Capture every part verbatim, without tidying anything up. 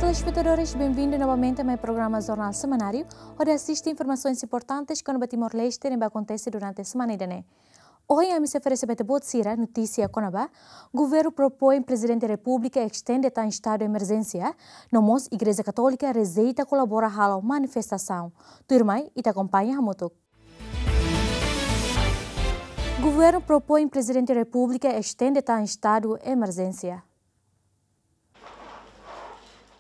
Telespetadores, benvindu novamente mai programa Jornál Semanáriu, hodi asiste informasoens importantes kona-ba Timor-Leste ne'ebé akontese durante semana ida-ne'e. Ohin ami sei oferese ba ita-boot sira notísia kona-ba: Governu propoin Prezidente Repúblika estende tan estadu emerjénsia, no mós Igreja Katólika rejeita kolabora halo manifestasaun. Tuirmai, ita akompaña hamutuk. Governu propoin Prezidente Repúblika estende tan estadu emerjénsia.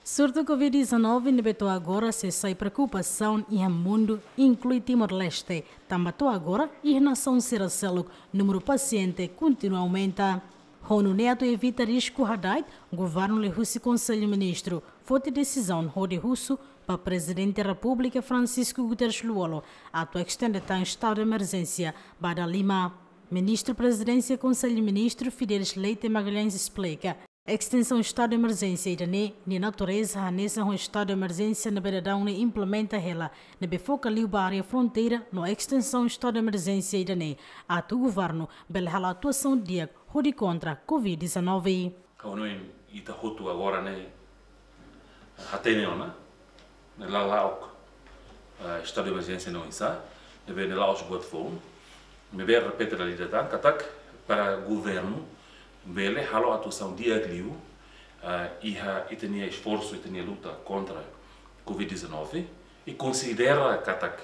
Surtu Covid dezanove ne'ebé to'o agora sei sai preokupasaun iha mundu, inklui Timor-Leste, tanba to'o agora iha nasaun sira seluk númeru pasiente kontinua aumenta. Ho nune'e atu evita risku hada'et, governu liuhusi Konsellu Ministru foti desizaun hodi husu ba Prezidente Repúblika Francisco Guterres Lú-Olo atu estende tan estadu emerjénsia ba dala lima. Ministru Prezidénsia Konsellu Ministru Fidelis Leite Magalhães esplika, estensaun estadu emerjénsia ida-ne'e nia natureza hanesan ho estadu emerjénsia ne'ebé daudaun ne'e implementa hela, ne'ebé foka liu ba área fronteira, no estensaun estadu emerjénsia ida-ne'e atu governu bele halo atuasaun di'ak hodi kontra Covid dezanove. Ha'u hanoin ita hotu agora ne'e hatene ona, ne'e la'o, eh, estadu de emerjénsia ne'e oinsá, ne'ebé ne'e la'ós buat foun, ne'ebé repete dala ida tan, katak para governu bele halo atuasaun di'ak liu, eh, iha ita-nia esforsu, ita-nia luta kontra Covid dezanove, i konsidera katak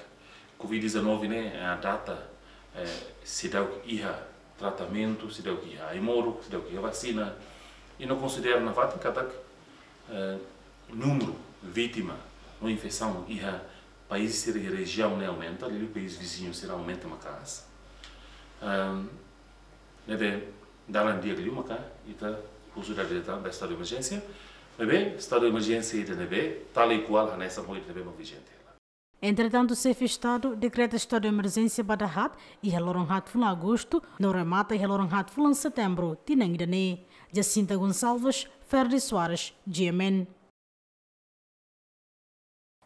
Covid dezanove ne'e, eh, data, eh, seidauk iha tratamentu, seidauk iha ai-moruk, seidauk iha vasina, i no konsidera nafatin katak, eh, númeru vítima no infesaun iha país sira iha rejiaun ne'e aumenta, liuliu país viziñu sira aumenta maka'as. Ehm, ne'ebé dalan di'ak liu maka ita husu dala ida tan ba estadu de emerjénsia, ne'ebé estadu de emerjénsia ida ne'ebé tal e kual hanesan ho ida ne'ebé mak vijente. Entretantu, Xefe Estadu dekreta estadu de emerjénsia ba dahaat iha loron haat fulan Agostu, no remata iha loron haat fulan Setembru tinan ida-ne'e. Jacinta Gonçalves, Ferdi Soares, G M N.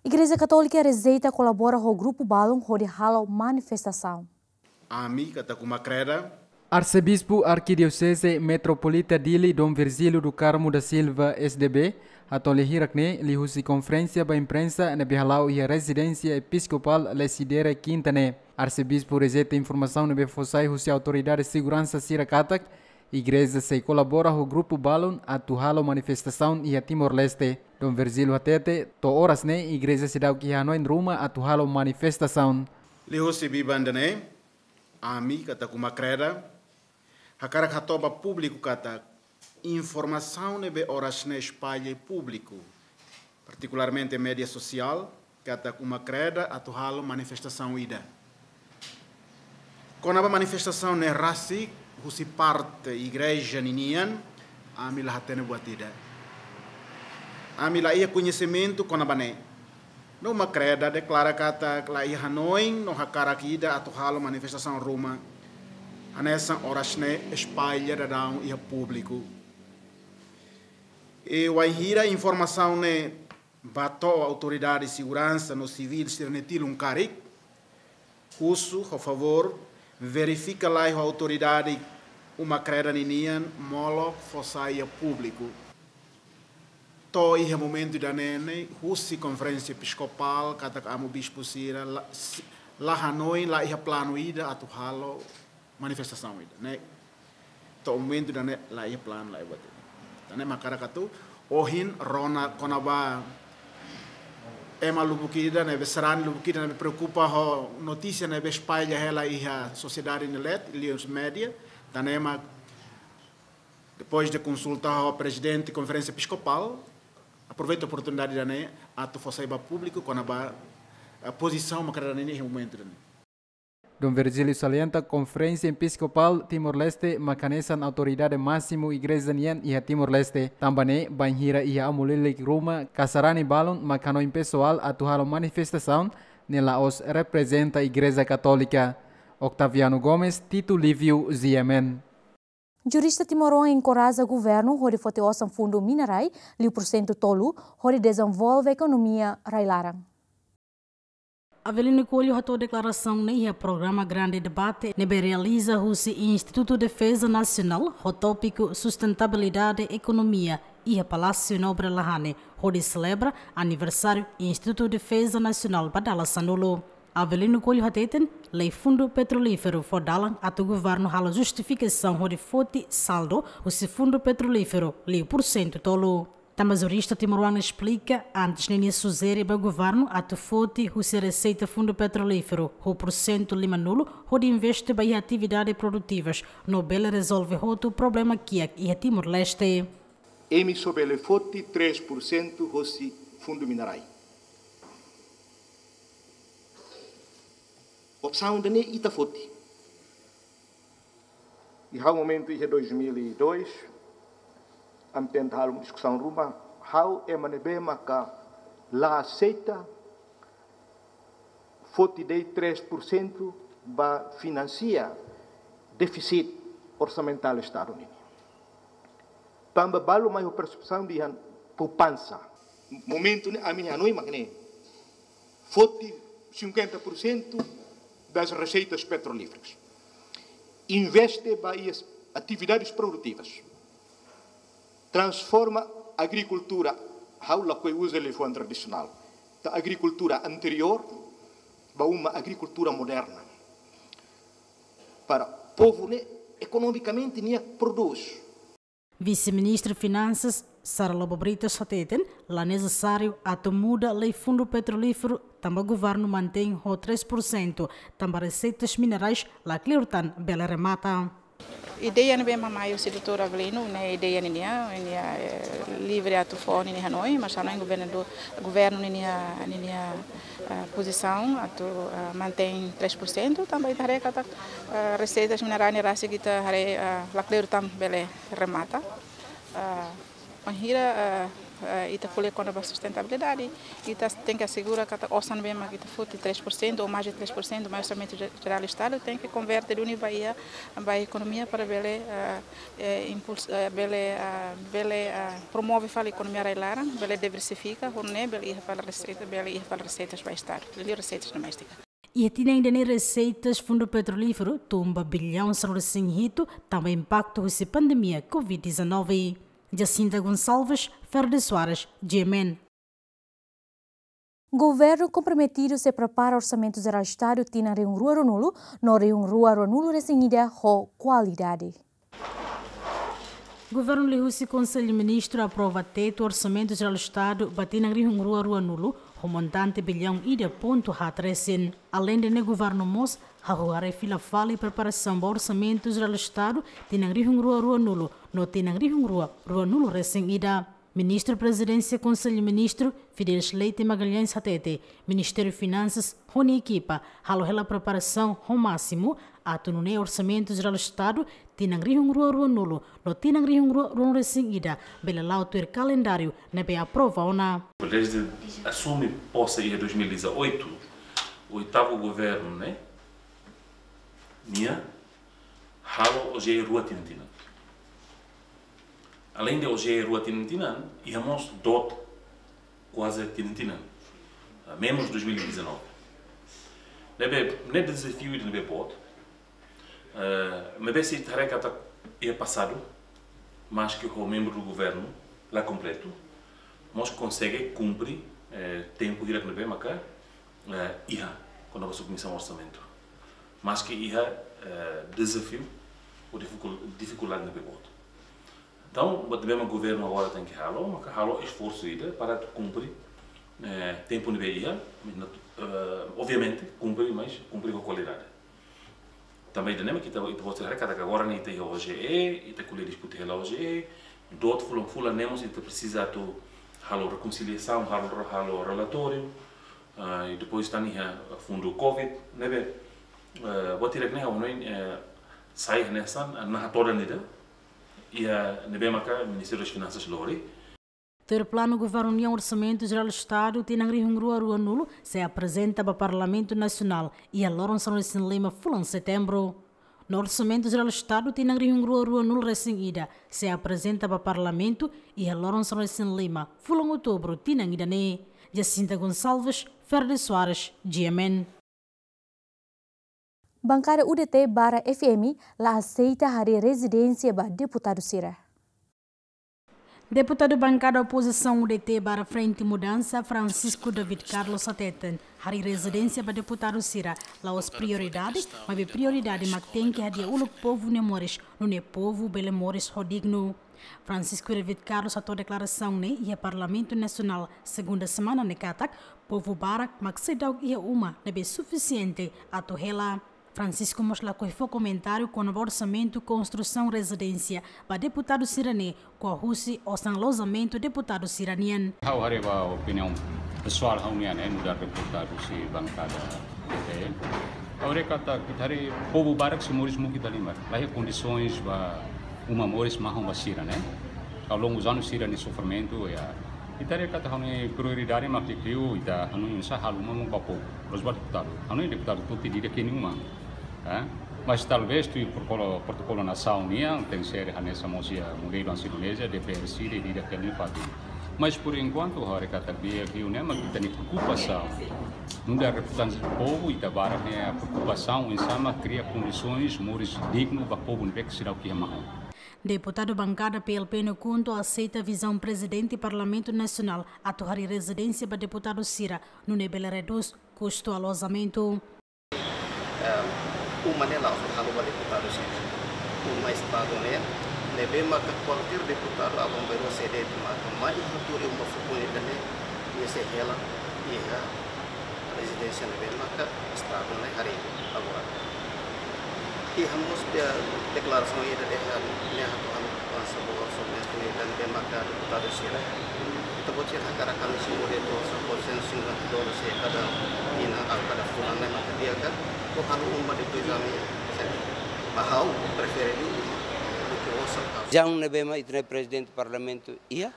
Igreja Katólika rejeita kolabora ho grupu balun hodi halo manifestasaun. Ami katak Uma Kreda. Arsebispu Arkidioseze Metropolita Dili Dom Virgílio do Carmo da Silva, S D B, hatoli hirak-ne'e liuhusi konferénsia ba imprensa ne'ebé hala'o iha rezidénsia episkopál Lecidere, kinta ne'e. Arsebispu rejeita informasaun ne'ebé fó sai husi autoridade seguransa sira katak igreja sei kolabora ho grupu balun atu halo manifestasaun iha Timor-Leste. Dom Virgílio hatete, to'o oras ne'e igreja seidauk iha hanoin ruma atu halo manifestasaun. Liuhusi biban ida-ne'e, ami katak Uma Kreda hakarak hato'o ba públiku katak informasaun ne'ebé oras ne'e espalla iha públiku, partikularmente média sosiál, katak Uma Kreda atu halo manifestasaun ida. Kona-ba manifestasaun ne'e rasik husi parte igreja ninian, ami la hatene buat ida. Ami la iha koñesimentu kona-ba ne'e. No Uma Kreda deklara katak la iha hanoin no hakarak ida atu halo manifestasaun ruma hanesan oras ne'e espalla daudaun iha públiku. I wainhira informasaun ne'e bá to'o autoridade seguransa no sivíl sira-nia tilun karik, husu, ho favór, verifika lai ho autoridade Uma Kreda ninian molok fó sai iha públiku. To'o iha momentu ida-ne'e ne'e, husi konferénsia episkopál katak amu bispu sira la, si-, la hanoin, la iha planu ida atu halo manifestasaun ida-ne'e. To'o momentu ida-ne'e la iha planu, la iha buat ida. Tan ne'e mak hakarak atu ohin rona kona-ba ema lubuk ida ne'ebé sarani, lubuk ida ne'ebé preokupa ho notísia ne'ebé espalla hela iha sosiedade nia leet, liuhusi média. Tan ne'e mak depois de konsulta ho prezidente konferénsia episkopál, aproveita oportunidade ida-ne'e atu fó sai ba públiku kona-ba, eh, pozisaun Uma Kreda ninian iha momentu ida-ne'e. Dom Virgílio salienta, konferénsia episkopál Timor-Leste mak hanesan autoridade másimu igreja nian iha Timor-Leste. Tanba ne'e, bainhira iha amu lilik ruma ka sarani balun mak hanoin pesoál atu halo manifestasaun, ne'e la'ós reprezenta Igreja Katólika. Octaviano Gomes, Tito Lívio, G M N. Jurista timoroan enkoraja governu hodi foti osan fundu mina-rai liu pursentu tolu hodi dezenvolve ekonomia rai-laran. Avelino Coelho hato'o deklarasaun ne'e iha programa Grande Debate ne'ebé realiza husi Institutu Defeza Nasionál ho tópiku Sustentabilidade Ekonomia iha Palásiu Nobre Lahane, hodi selebra aniversáriu Institutu Defeza Nasionál ba dala sanulu. Avelino Coelho hateten, lei Fundu Petrolíferu fó dalan atu governu halo justifikasaun hodi foti saldu husi Fundu Petrolíferu liu pursentu tolu. Tanba jurista timoroan esplika, antes ninia sujere ba governu atu foti husi reseita Fundu Petrolíferu ho pursentu limanulu hodi investe ba iha atividade produtivas, no bele rezolve hotu problema kiak iha Timor-Leste. Imi só bele foti três por cento hosi fundu minerai. Opsaun ida-ne'e ita foti. Iha momentu iha dois mil e dois, ami tenta halo diskusaun ruma, ha'u ema ne'ebé maka la aseita foti de'it três por cento ba finansia défisit orsamentál Estadu nian. Tanba balu mai ho persepsaun dehan poupansa. Momentu ne'e ami hanoin mak ne'e. Foti cinquenta por cento das receitas petrolíferas. Investe ba iha atividades produtivas. Transforma agrikultura, ha'u lakohi uza liafuan tradisionál, da agrikultura anteriór ba uma agrikultura moderna. Para povu ne'e ekonomikamente nia prodús. Vise-Ministru Finansas, Sara Lobo Britos hateten, la nesesáriu atu muda lei Fundu Petrolíferu, tanba governu mantein ho três por cento, tanba reseitas minerais la kleur tan bele remata. Ideia ne'ebé mai husi doutór Avelino, ne'e ideia ninia, ninia, eh, livre atu fó ninia hanoin, mas hanoin governu do, governu ninia, ninia, eh, pozisaun atu, eh, mantein três por cento, tanba ita haree katak, eh, reseitas minerais ne'e rasik ita haree, eh, la kleur tan bele remata. Ah, bainhira, ah, ah, ita ko'alia kona-ba sustentabilidade, ita tenke asegura katak osan ne'ebé mak ita foti três por cento ou mais de três por cento, mai Orsamentu Je-, Jerál Estadu, tenke konverte duni ba iha, ba ekonomia para bele, ah, eh, impuls-, eh, bele, ah, bele, ah, promove fali ekonomia rai-laran, bele diversifika, hodi nune'e bele iha fali reseita, bele iha fali reseitas ba Estadu, liuliu reseitas doméstika. Iha tinan ida-ne'e reseitas Fundu Petrolíferu tun ba billaun sanulu-resin-hitu, tanba impaktu husi pandemia covid dezanove. Jacinta Gonçalves, Ferde Soares, G M N. Governu komprometidu sei prepara Orsamentu Jerál Estadu tinan rihun rua ruanulu no rihun rua ruanulu-resin-ida ho kualidade. Governu liuhusi Konsellu Ministru aprova tetu Orsamentu Jerál Estadu ba tinan rihun rua ruanulu, ho montante billaun ida pontu haat resin. Aleinde ne'e, governu mós hahú haree fila fali preparasaun ba Orsamentu Jerál Estadu tinan rihun rua ruanulu no tinan rihun rua ruanulu-resin-ida. Ministru Prezidénsia Konsellu Ministru, Fidelis Leite Magalhães hateten, Ministériu Finansas ho nia ekipa halo hela preparasaun ho másimu, atu nune'e Orsamentu Jerál Estadu tinan rihun rua ruanulu no tinan rihun rua ruanulu-resin-ida bele la'o tuir kalendáriu ne'ebé aprova ona. Desde assume posse em dois mil e dezoito, oitavo governo, né? Nia halo O G E rua tinan-tinan. Aleinde O G E rua tinan-tinan, iha mós DOT kuaze tinan-tinan. Ah, menus dois mil e dezanove. Ne'ebé, ne'e dezafiu ida ne'ebé boot. Eh, maibé se ita haree katak iha pasadu, maske ho membru do governu la kompletu, mós konsege kumpre, eh, tempu hirak ne'ebé maka, eh, iha kona-ba submisaun orsamentu. Maske iha, eh, dezafiu ou difikul-, difikuldade ne'ebé boot. Entaun, buat ne'ebé mak governu agora tenke halo, maka halo esforsu ida para kumpre, eh, tempu ne'ebé iha, mas nat-, eh, obviamente, kumpre, mas kumpre ho kualidade. Tanba ida-ne'e mak ita, ita-boot sira haree katak agora ne'e ita iha O G E, ita ko'alia diskute hela O G E, DOT fulan-fulan ne'e mós ita presiza atu halo rekonsiliasaun, halo, halo relatóriu, ah, i depois tan iha fundu covid, ne'ebé, eh, buat hirak ne'e ha'u hanoin, eh, sai hanesan, eh, naha todan ida, iha ne'ebé maka Ministériu das Finansas lori. Tuir planu governu nian, Orsamentu Jerál Estadu tinan rihun rua ruanulu sei aprezenta ba Parlamentu Nasionál iha loron sanulu-resin-lima fulan Setembru. No Orsamentu Jerál Estadu tinan rihun rua ruanulu-resin-ida sei aprezenta ba Parlamentu iha loron sanulu-resin-lima fulan Outubru tinan ida-ne'e. Jacinta Gonçalves, Ferde Soares, G M N. Bankada U D T barra F M la aseita harii rezidénsia ba deputadu sira. Deputadu bankada opozisaun U D T barra Frente Mudança, Francisco David Carlos hateten, harii rezidénsia ba deputadu sira la'ós prioridade, maibé prioridade mak tenke hadi'a uluk povu nia moris, nune'e povu bele moris ho dignu. Francisco David Carlos hato'o deklarasaun ne'e iha Parlamentu Nasionál, segunda semana ne'e katak, povu barak mak seidauk iha uma ne'ebé sufisiente atu hela. Francisco mós lakohi fó komentáriu kona-ba orsamentu konstrusaun rezidénsia ba deputadu sira-ne'e, ko'a husi osan alojamentu deputadu sira-nian. Ha'u haree ba opiniaun pesoál ha'u-nian, eh, nu'udar deputadu husi bankada U D T. Ha'u haree katak ita haree povu barak sei moris muki dala ida. La iha kondisoens ba uma moris mahon ba sira, ne'e. Ao longu dos anos sira-nia sofrimentu, ya. Ita haree katak ha'u-nia prioridade mak liuliu ita hanoin oinsá halo uma ba povu. La'ós ba deputadu. Ha'u-nia deputadu tuti dida ke nenhuma. Eh? Mas talvés tuir protokolu, protokolu nasaun nian, tenke ser hanesan mós iha modelu hanesan Indonézia, D P R sira, ida-idak nia fatin. Mas por enkuantu, ha'u haree katak di'ak liu ne'e mak ita-nia preokupasaun. Nu'udar reprezentante povu, ita barak ne'e preokupasaun oinsá mak kria kondisoens moris dignu ba povu ne'ebé ke seidauk iha mahon. Deputadu bankada P L P no KHUNTO aseita vizaun Prezidente Parlamentu Nasionál atu harii rezidénsia ba deputadu sira, nune'e bele redús kustu alojamentu. Eh, uma ne'e la'ós halo ba deputadu sira. Uma Estadu ne'e, ne'ebé maka kualkér deputadu aban-bainrua sei de'it maka mai iha tuur iha uma fukun ida-ne'e, nia sei hela iha rezidénsia ne'ebé maka Estadu ne'e harii agora. Iha mós deklarasaun ida dehan ne'e atu halo mudansa ba orsamentu ida ne'ebé maka deputadu sira. Ita-boot sira hakarak ami simu de'it osan, por cento cinquenta dólares se kada tinan, ah, kada fulan ne'e maka di'ak ka? Ou halo uma depois ami, ba ha'u prefere liu uma duké osan ka. Vizaun ne'ebé mak ita-nia Prezidente Parlamentu iha,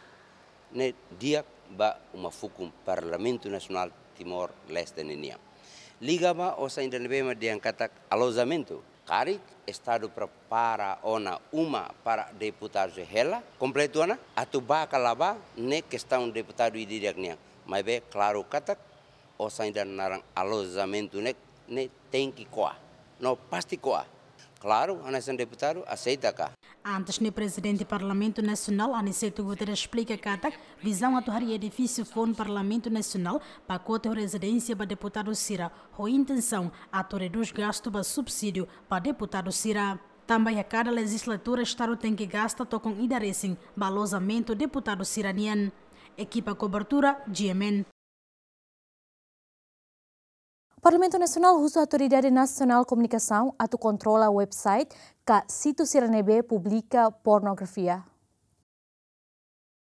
ne'e di'ak ba uma fukun Parlamentu Nasionál Timor-Leste ninian. Liga ba osan ida ne'ebé mak dehan katak alojamentu. Karik Estadu prepara ona uma para deputadu sei hela, kompletu ona, atu bá ka la bá, ne'e kestaun deputadu ida-idak nian. Maibé klaru katak, osan ida naran alojamentu ne'e, ne'e tenke ko'a. No pasti ko'a. Klaru, hanesan deputadu, aseita ka? Antes ne'e Prezidente Parlamentu Nasionál, Aniceto Guterres esplika katak, vizaun atu harii edifísiu foun Parlamentu Nasionál, pakote ho rezidénsia ba deputadu sira, ho intensaun atu redús gastu ba subsídiu ba deputadu sira. Tanba iha kada lejizlatura Estadu tenke gasta tokon ida resin ba alojamentu deputadu sira-nian. Ekipa kobertura, G M N. Parlamentu Nasionál husu Autoridade Nasionál Komunikasaun atu kontrola website ka sítiu sira ne'ebé publika pornografia.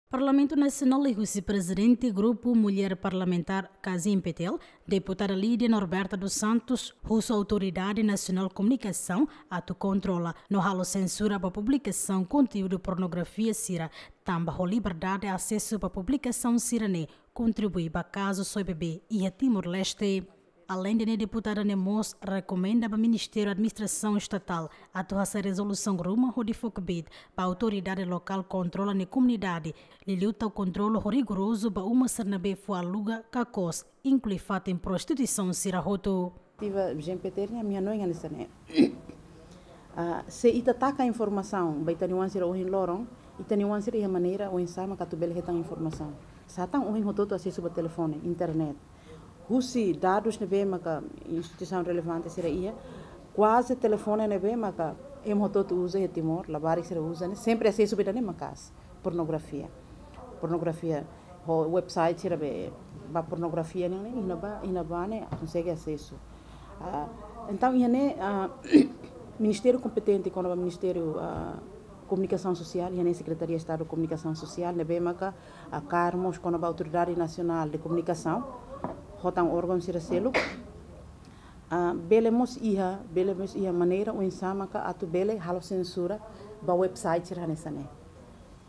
Parlamentu Nasionál liuhusi Prezidente Grupu Mulher Parlamentár, KAZIM-PTL, Deputada Lídia Norberta dos Santos, husu Autoridade Nasionál Komunikasaun atu kontrola no halo sensura ba publikasaun konteúdu pornografia sira, tanba ho liberdade asesu ba publikasaun sira-ne'e kontribui ba kazu soe bebé iha Timor-Leste. Aleinde ne'e, deputada ne'e mós rekomenda ba Ministériu Administrasaun Estatál atu hasai rezolusaun ruma hodi fó kbiit ba autoridade lokál kontrola nia komunidade, liuliu tau kontrolu ho rigorozu ba uma sira ne'ebé fó aluga ka kos, inklui fatin prostituisaun sira hotu. Tiva G M P T R nian, ami hanoin hanesan ne'e. Ah, se ita taka informasaun ba ita-nia oan sira ohin loron, ita-nia oan sira iha maneira oinsá mak atu bele hetan informasaun. Sá tan ohin hotu-hotu asesu ba telefone, internet. Husi dadus ne'ebé maka instituisaun relevante sira iha, kuaze telefone ne'ebé maka ema hotu-hotu uza iha Timor, labarik sira uza ne'e, sempre asesu ba ida-ne'e maka'as, pornografia. Pornografia, ho website sira be ba pornografia ne'e, iha ne'ebá, iha ne'ebá ne'e konsege asesu. Ah, entaun, iha ne'e, ah, ministériu kompetente, kona-ba Ministériu, ah, Komunikasaun Sosiál, iha ne'e Sekretaria Estadu Komunikasaun Sosiál, ne'ebé maka hakarak mós kona-ba Autoridade Nasionál de Komunikasaun, ho tan órgaun sira seluk, ah, bele mós iha, bele mós iha maneira oinsá maka atu bele halo sensura ba website sira hanesan ne'e.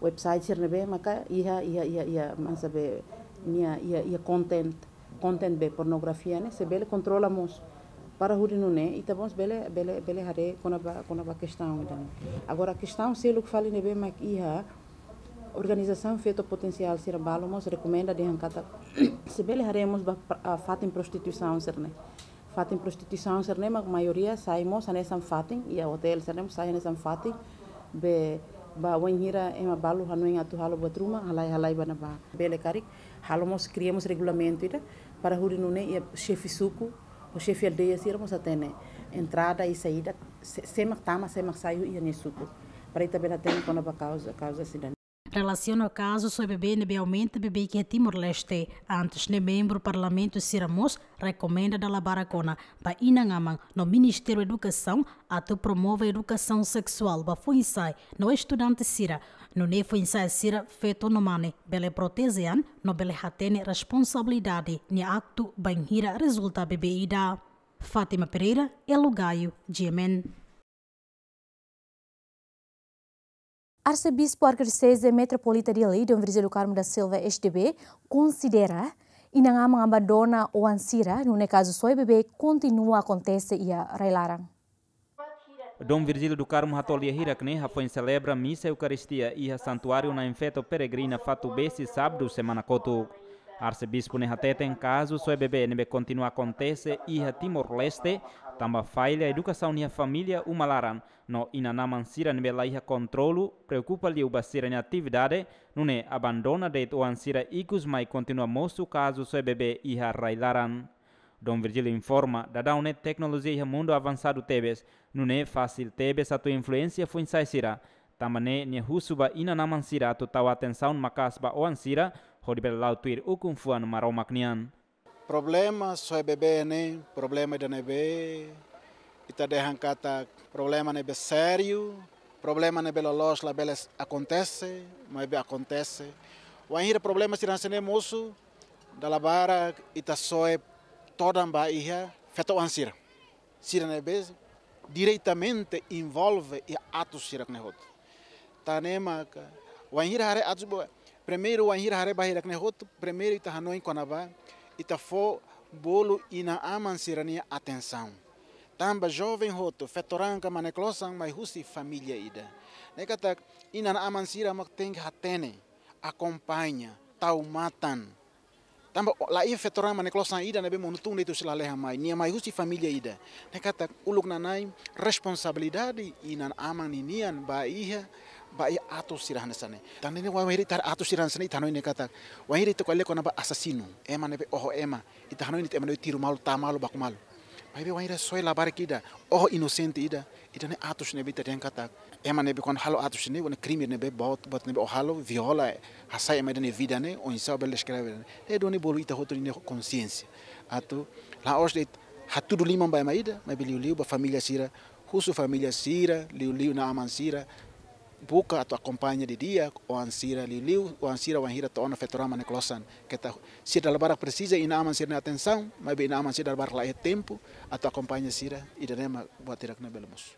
Website sira ne'ebé maka iha, iha, iha, iha, masa be, nia, iha, iha content, content be pornografia ne'e, se bele kontrola mós. Para hodi nune'e, ita mós bele, bele, bele haree kona-ba, kona-ba kestaun ida-ne'e. Agora, kestaun seluk fali ne'ebé mak iha, Organizasaun feto potensiál sira balu mós rekomenda dehan katak se bele haree mós ba pra-, ah, fatin prostituisaun sira-ne'e. Fatin prostituisaun sira-ne'e mak maioria sai mós hanesan fatin, iha hotel sira-ne'e mós sai hanesan fatin. Be ba wainhira ema balu hanoin atu halo buat ruma, halai-halai ba ne'ebá. Bele karik halo mós, kria mós regulamentu ida para hodi nune'e iha xefe suku ou xefe aldeia sira mós hatene entrada i saída, sé, sé mak tama, sé mak sai iha nia suku. Para ita bele hatene kona-ba kauza, kauza sira-ne'e. Relasiona ho kazu soe bebé ne'ebé aumenta beibeik iha Timor-Leste, antes ne'e membru Parlamentu sira mós rekomenda dala barak ona ba inan-aman no Ministériu Edukasaun atu promove edukasaun seksuál ba foin-sa'e no estudante sira, nune'e foin-sa'e sira, feto no mane, bele proteje an no bele hatene responsabilidade nia aktu bainhira rezulta bebé ida. Fátima Pereira, Elo Gaio, G M N. Arsebispu Arkidioseze Metropolita Dili, Dom Virgílio Carmo da Silva, S D B, konsidera inan-aman abandona oan sira, nune'e kazu soe bebé kontinua akontese iha rai-laran. Dom Virgílio do Carmo hato'o lia hirak-ne'e hafoin selebra misa Eukaristia iha Santuáriu Na'in Feto Peregrina Fatubesi, sábadu semana kotuk. Arsebispu ne'e hateten kazu soe bebé ne'ebé kontinua akontese iha Timor-Leste, tanba falla edukasaun iha família uma laran, no inan-aman sira ne'ebé laiha kontrolu, preokupa liu ba sira-nia atividade, nune'e abandona de'it oan sira ikus mai kontinua mosu kazu soe bebé iha rai-laran. Dom Virgílio informa, daudaun ne'e teknolojia iha mundu avansadu tebes, nune'e fasil tebes atu influensia foin-sa'e sira. Tanba ne'e nia husu ba inan-aman sira atu tau atensaun maka'as ba oan sira, hodi bele la'o tuir ukun-fuan Maromak nian. Problema soe bebé ne'e, problema ida ne'ebé ita dehan katak problema ne'ebé sériu, problema ne'ebé loloos labele akontese, maibé akontese. Wainhira problema sira hanesan ne'e mosu, dala barak ita soe todan ba iha feto-oan sira. Sira ne'ebé diretamente envolve iha atus sira-ne'e hotu. Tan ne'e maka, wainhira haree atus ba, primeiru wainhira haree ba hirak-ne'e hotu, primeiru ita hanoin kona-ba, ita fó bolu inan-aman sira-nia atensaun. Tanba joven hotu, feto-raan ka mane-klosan mai husi família ida. Ne'e katak inan-aman sira mak tenke hatene, akompaña, tau matan. Tanba o-, laiha feto-raan mane-klosan ida ne'ebé monu tun de'it husi lalehan mai, nia mai husi família ida. Ne'e katak uluk nanain responsabilidade inan-aman ninian ba iha, ba iha atus sira hanesan ne'e. Tan ne'e wainhira ita haree atus sira hanesan ne'e ita hanoin ne'e katak, wainhira ita ko'alia kona-ba asasinu, ema ne'ebé oho ema, ita hanoin ita ema ne'ebé tiru malu, tau malu, baku malu. Maibé wainhira soe labarik ida, oho inosente ida, ida-ne'e atus ne'ebé ita dehan katak, ema ne'ebé kuandu halo atus ne'e, wana krime ne'ebé boot, boot ne'ebé o halo, viola, hasai ema ida-nia vida ne'e, oinsá bele deskreve ne'e. Ne'e duni bolu ita hotu nia konsiénsia. Atu, la'ós de'it hatudu liman ba ema ida, maibé liuliu ba família sira, husu família sira, liuliu inan-aman sira, buka atu akompaña didi'ak oan sira, liuliu oan sira wainhira to'o ona feto-raan mane-klosan. Keta sira dala barak presiza inan-aman sira-nia atensaun, maibé inan-aman sira dala barak laiha tempu atu akompaña sira, ida-ne'e mak buat hirak-ne'e bele mosu.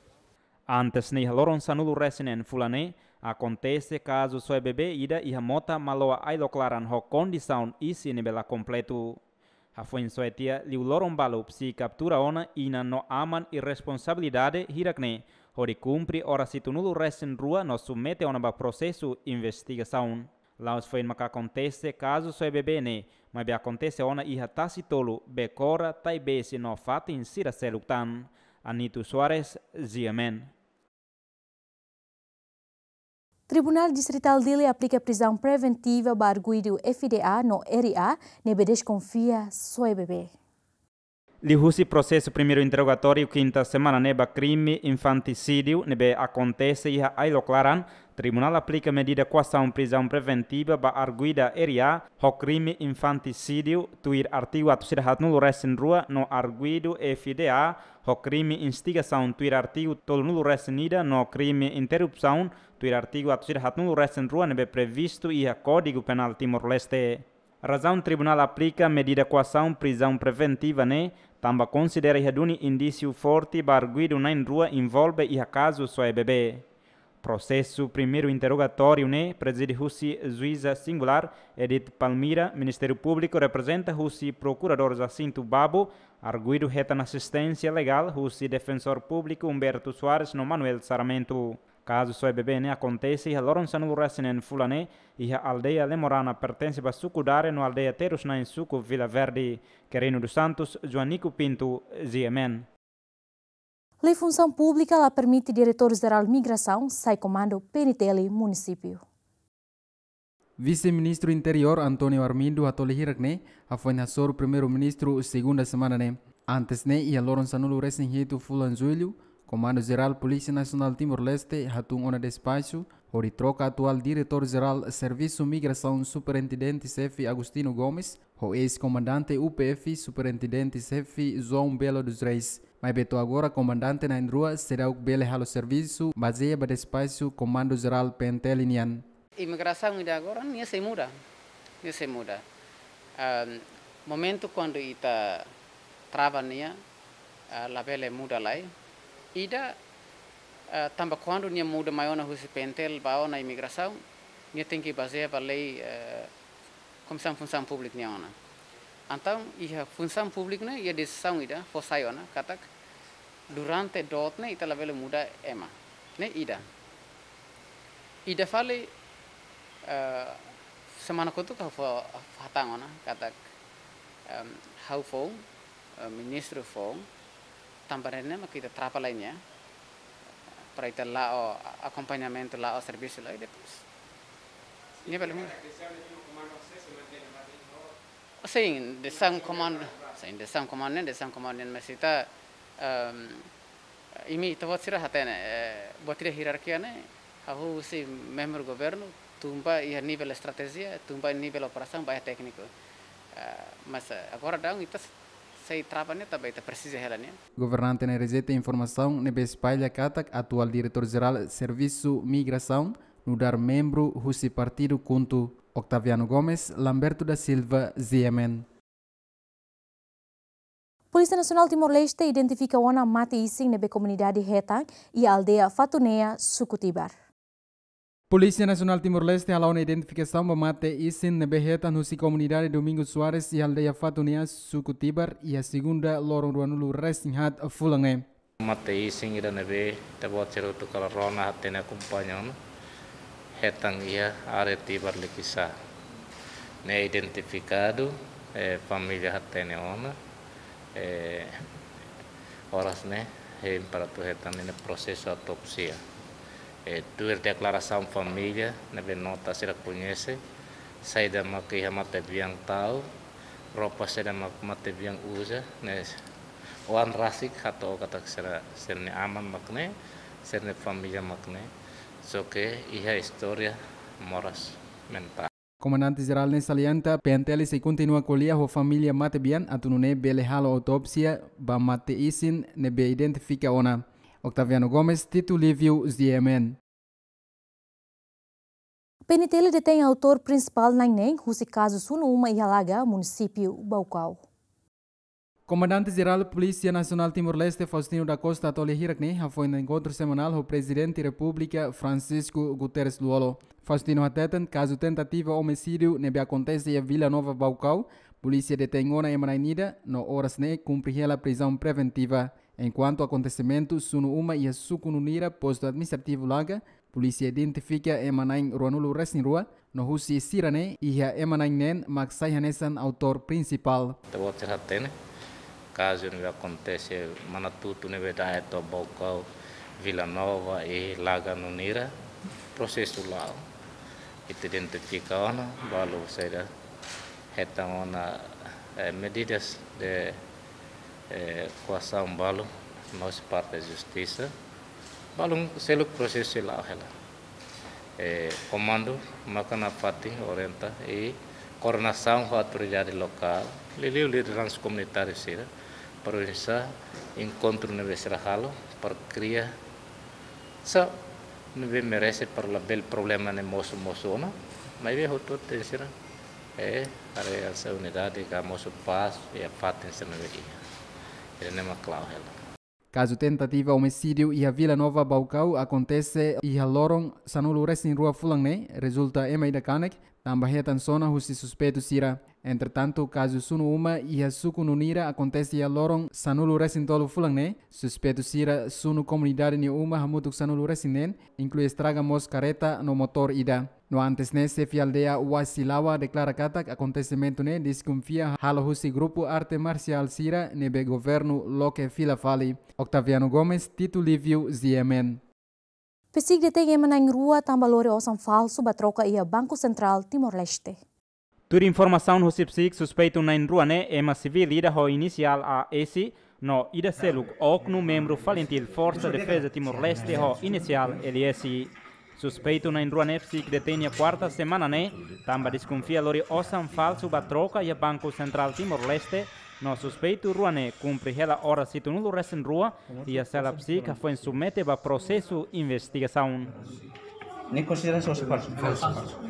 Antes ne'e iha loron sanulu-resin-neen fulan ne'e, akontese kazu soe bebé ida iha mota Maloa Ailok Laran ho kondisaun isin ne'ebé la kompletu. Hafoin soe tiha liu loron balu, SICI kaptura ona inan no aman irresponsabilidade hirak-ne'e, hodi kumpre oras hitunulu-resin-rua no submete ona ba prosesu investigasaun. La'ós foin maka akontese kazu soe bebé ne'e, maibé akontese ona iha Tasitolu, Bekora, Taibesi no fatin sira seluk tan. Anito Soares, G M N. Tribunál Distritál Dili aplika prizaun preventiva ba arguidu F D A no R A ne'ebé deskonfia soe bebé. Liuhusi prosesu primeiru interrogatóriu kinta semana ne'e ba krime infantisídiu ne'ebé akontese iha Ailok Laran, tribunál aplika medida koasaun prizaun preventiva ba arguida R A ho krime infantisídiu tuir artigu atus ida haatnulu-resin-rua no arguidu F D A ho krime instigasaun tuir artigu tolunulu-resin-ida no krime interrupsaun tuir artigu atus ida haatnulu-resin-rua ne'ebé previstu iha Kódigu Penál Timor-Leste. Razaun tribunál aplika medida koasaun prizaun preventiva ne'e, tanba konsidera iha duni indísiu forte ba arguidu na'in-rua envolve iha kazu soe bebé. Prosesu primeiru interrogatóriu ne'e prezide husi juíza singulár Edith Palmira, Ministériu Públiku reprezenta husi Prokuradór Jacinto Babo, arguidu hetan asisténsia legál husi Defensór Públiku Humberto Soares no Manuel Sarmento. Kazu soe bebé ne'e akontese iha loron sanulu-resin-neen fulan ne'e, iha aldeia Lemorana, pertense ba suku Dare, no aldeia Terus-Nain, suku Vila Verde. Querino dos Santos, Joanico Pinto, G M N. Lei Funsaun Públika la permite Diretór Jerál Migrasaun sai komandu P N T L munisípiu. Vise-Ministru Interiór António Armindo hato'o lia hirak ne'e, hafoin hasoru Primeiru-Ministru segunda semana ne'e. Antes ne'e, iha loron sanulu-resin-hitu fulan Jullu, Komandu Jerál Polísia Nasionál Timor-Leste hatún ona despaxu hodi troka atuál Diretór Jerál Servisu Migrasaun Superintendente Xefe Agostinho Gomes ho eis-komandante U P F Superintendente Xefe João Belo dos Reis. Maibé to'o agora komandante na'in-rua seidauk bele halo servisu bazeia ba despaxu Komandu Jerál P N T L nian. Imigrasaun ida agora nia sei muda, nia sei muda. Ahm, momentu kuandu ita trava nia, ah, labele muda lai. Ida, ah, tanba kuandu nia muda mai ona husi P N T L ba ona imigrasaun, nia tenke bazeia ba lei, eh, Komisaun Funsaun Públika nian ona. Entaun, iha Funsaun Públika ne'e, iha desizaun ida fó sai ona, katak durante doot ne'e ita labele muda ema. Ne'e ida. Ida fali, eh, semana kotuk ha'u fó, hatán ona, katak, em, ha'u foun, eh, ministru foun, tanba ne'e mak ita trava lai nia, para ita la'o akompañamentu, la'o servisu lai depois. Nia bele muda. Sin, desizaun komandu, sin, desizaun komandu ne'e, desizaun komandu ne'e, mas ita, em, imi ita-boot sira hatene, eh, buat ida hierarkia ne'e, hahú husi membru governu, tun ba iha nivel estratéjia, tun ba nivel operasaun, ba iha tékniku. Eh, mas, eh, agora daudaun ita sei trava nia, tanba ita presiza hela nia. Governante ne'e rejeita informasaun ne'ebé espalla katak atuál Diretór Jerál Servisu Migrasaun nu'udar membru husi partidu KHUNTO. Octaviano Gomes, Lamberto da Silva, G M N. Polísia Nasionál Timor-Leste identifika ona mate-isin ne'ebé komunidade hetan iha aldeia Fatunea, suku Tibar. Polísia Nasionál Timor-Leste hala'o ona identifikasaun ba mate-isin ne'ebé hetan husi komunidade Domingos Soares iha aldeia Fatunea, suku Tibar, iha segunda loron ruanulu-resin-haat fulan ne'e. Mate-isin ida ne'ebé ita-boot sira hotu kala rona, hatene, akompaña ona, hetan iha área Tibar Likisá. Ne'e identifikadu, eh, família hatene ona, eh, oras ne'e hein para atu hetan ninia prosesu autópsia. Eh, tuir deklarasaun família ne'ebé nota sira koñese, saida mak iha matebian tau, roupa saida mak matebian uza, ne'e oan rasik hato'o katak sira, sira-nia aman mak ne'e, sira-nia família mak ne'e. Só ke iha istória moras mentál. Komandante Jerál ne'e salienta, P N T L sei kontinua ko'alia ho família matebian atu nune'e bele halo autópsia ba mate-isin ne'ebé identifika ona. Octaviano Gomes, Tito Livio, G M N. P N T L detein autór prinsipál na'in-neen husi kazu sunu uma iha Laga, munisípiu Baucau. Komandante Jerál Polísia Nasionál Timor-Leste, Faustino da Costa, hato'o lia hirak ne'e hafoin enkontru semanál ho Prezidente Repúblika, Francisco Guterres Lú-Olo. Faustino hateten, kazu tentativa omisídiu ne'ebé akontese iha Vila Nova, Baucau, polísia detein ona ema na'in ida, no oras ne'e kumpre hela prizaun preventiva. Enkuantu akontesimentu sunu uma iha suku Nunira, postu administrativu Laga, polísia identifika ema na'in ruanulu-resin-rua, no husi sira-ne'e iha ema na'in-neen mak sai hanesan autór prinsipál. Ita-boot sira hatene, kazu ne'ebé akontese Manatutu ne'ebé da'et to'o Baucau, Vila Nova i Laga Nunira, prosesu la'o. Ita identifika ona, balu saida hetan ona, eh, medidas de, eh, koasaun balu, no husi parte justisa. Balun seluk prosesu sei la'o hela. Eh, komandu maka nafatin orienta i koordenasaun ho autoridade lokál, liuliu lideransa komunitáriu sira, para oinsá enkontru ne'ebé sira halo, para kria sá ne'ebé merese para labele problema ne'e mosu-mosu ona, maibé hotu-hotu sira, eh, haree hanesan unidade ka mosu pás iha fatin sira ne'ebé iha. Ida-ne'e mak la'o hela. Kazu tentativa omisídiu iha Vila Nova, Baucau akontese iha loron sanulu-resin-rua fulan ne'e, rezulta ema ida kanek, tanba hetan sona husi suspeitu sira. Entretantu, kazu sunu uma iha suku Nunira akontese iha loron sanulu-resin-tolu fulan ne'e, suspeitu sira sunu komunidade nia uma hamutuk sanulu-resin-neen, inklui estraga mós karreta no motór ida. No antes ne'e, xefe aldeia Wasilawa deklara katak akontesimentu ne'e deskonfia halo husi grupu arte marsiál sira ne'ebé governu loke fila fali. Octaviano Gomes, Tito Livio, G M N. PCIC detein ema na'in-rua tanba lori osan falsu ba troka iha Banku Sentrál Timor-Leste. Tuir informasaun husi PCIC, suspeitu na'in-rua ne'e ema sivíl ida ho inisiál A S, no ida seluk oknum membru FALINTIL, Forsa Defeza Timor-Leste, ho inisiál L S. Suspeitu na'in-rua ne'e PCIC detein iha kuarta semana ne'e, tanba deskonfia lori osan falsu ba troka iha Banku Sentrál Timor-Leste, no suspeitu rua ne'e kumpre hela oras hitunulu-resin-rua iha sela PCIC, hafoin submete ba prosesu investigasaun. Ne'e konsidera osan falsu? Falsu.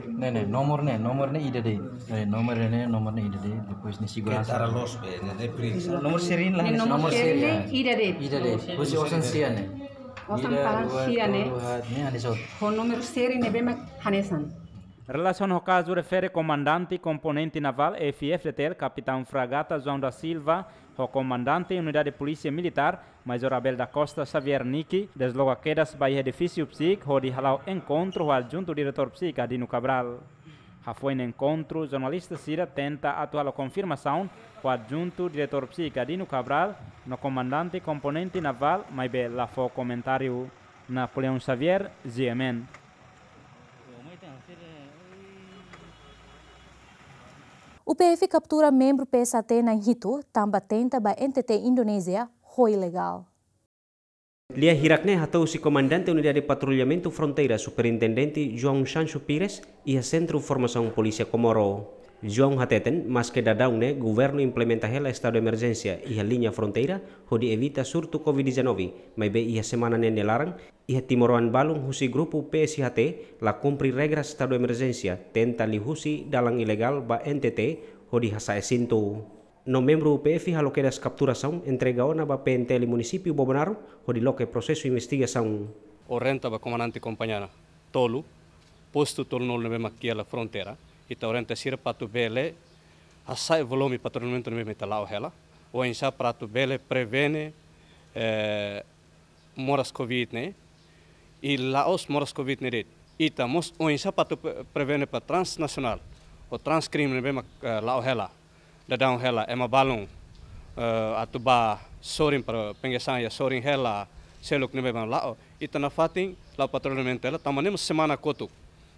Ne'e, ne'e, nomor ne'e, nomor ne'e ida de'it. Ne'e, nomor ne'e, nomor ne'e ida de'it. Depois ne'e seguransa. Kentara los be, ne'e, ne'e pri. Nomor seri ne'e la. Ne'e nomor seri ne'e ida de'it. Ida de'it. Husi osan sia ne'e. Osan palan sia ne'e. Ida, rua, tolu, haat, ne'e hanesan. Ho númeru seri ne'ebé mak hanesan. Relasiona ho kazu refere, komandante komponente navál F-FDTL, Kapitaun Fragata João da Silva, ho komandante unidade polísia militár, Major Abel da Costa Xavier Niki, desloka kedas ba iha edifísiu PCIC hodi hala'o enkontru ho adjuntu diretór PCIC Adino Cabral. Hafoin enkontru, jornalista sira tenta atu halo konfirmasaun ho adjuntu diretór PCIC Adino Cabral no komandante komponente navál, maibé la fó komentáriu. Napoleão Xavier, G M N. UPF kaptura membru P S H T na'in-hitu tanba tenta ba N T T Indonézia ho ilegál. Lia hirak ne'e hato'o husi Komandante Unidade Patrullamentu Fronteira, Superintendente João Sancho Pires, iha Sentru Formasaun Polísia Comoro. João hateten, maske daudaun ne'e governu implementa hela estadu emerjénsia iha liña fronteira hodi evita surtu covid dezanove, maibé iha semana ne'e nia laran, iha timoroan balun husi grupu P S H T la kumpre regras estadu emerjénsia, tenta liuhusi dalan ilegál ba N T T hodi hasa'e sintu. No membru UPF halo kedas kapturasaun, entrega ona ba P N T L Munisípiu Bobonaro hodi loke prosesu investigasaun. Orienta ba komandante kompañia tolu, postu tolunulu ne'ebé mak iha hela fronteira, ita orienta sira para atu bele hasa'e volume patrullamentu ne'ebé mak ita la'o hela, oinsá para atu bele prevene, eh, moras covid ne'e, i la'ós moras covid ne'e de'it. Ita mós oinsá para atu pre-, prevene ba transnasionál, ou transkrime ne'ebé mak, eh, la'o hela, daudaun hela, ema balun, eh, atu bá sorin para pengesaun iha sorin hela, seluk ne'ebé mak la'o. Ita nafatin la'o patrullamentu hela, tanba ne'e mós semana kotuk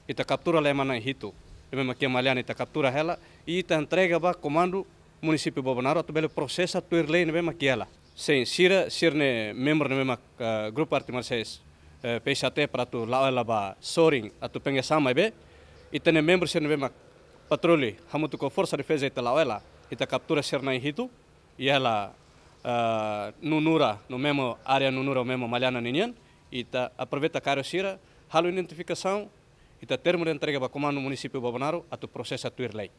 ita kaptura hela ema na'in-hitu ne'ebé mak iha Maliana, ita kaptura hela, i ita entrega ba komandu Munisípiu Bobonaro atu bele prosesa tuir lei ne'ebé mak iha hela. Sin, sira, sira-ne'e membru ne'ebé mak, eh, grupu arte marsiál, eh, P S H T para atu la'o hela ba sorin atu pengesaun maibé, ita-nia membru sira ne'ebé mak patrulla hamutuk ho Forsa Defeza ita la'o hela, ita kaptura sira na'in-hitu, iha hela, eh, Nunura, no memu área Nunura, memu Maliana ninian, ita aproveita kaer sira, halo identifikasaun, ita termu de entrega ba komandu Munisípiu Bobonaro atu prosesa tuir lei.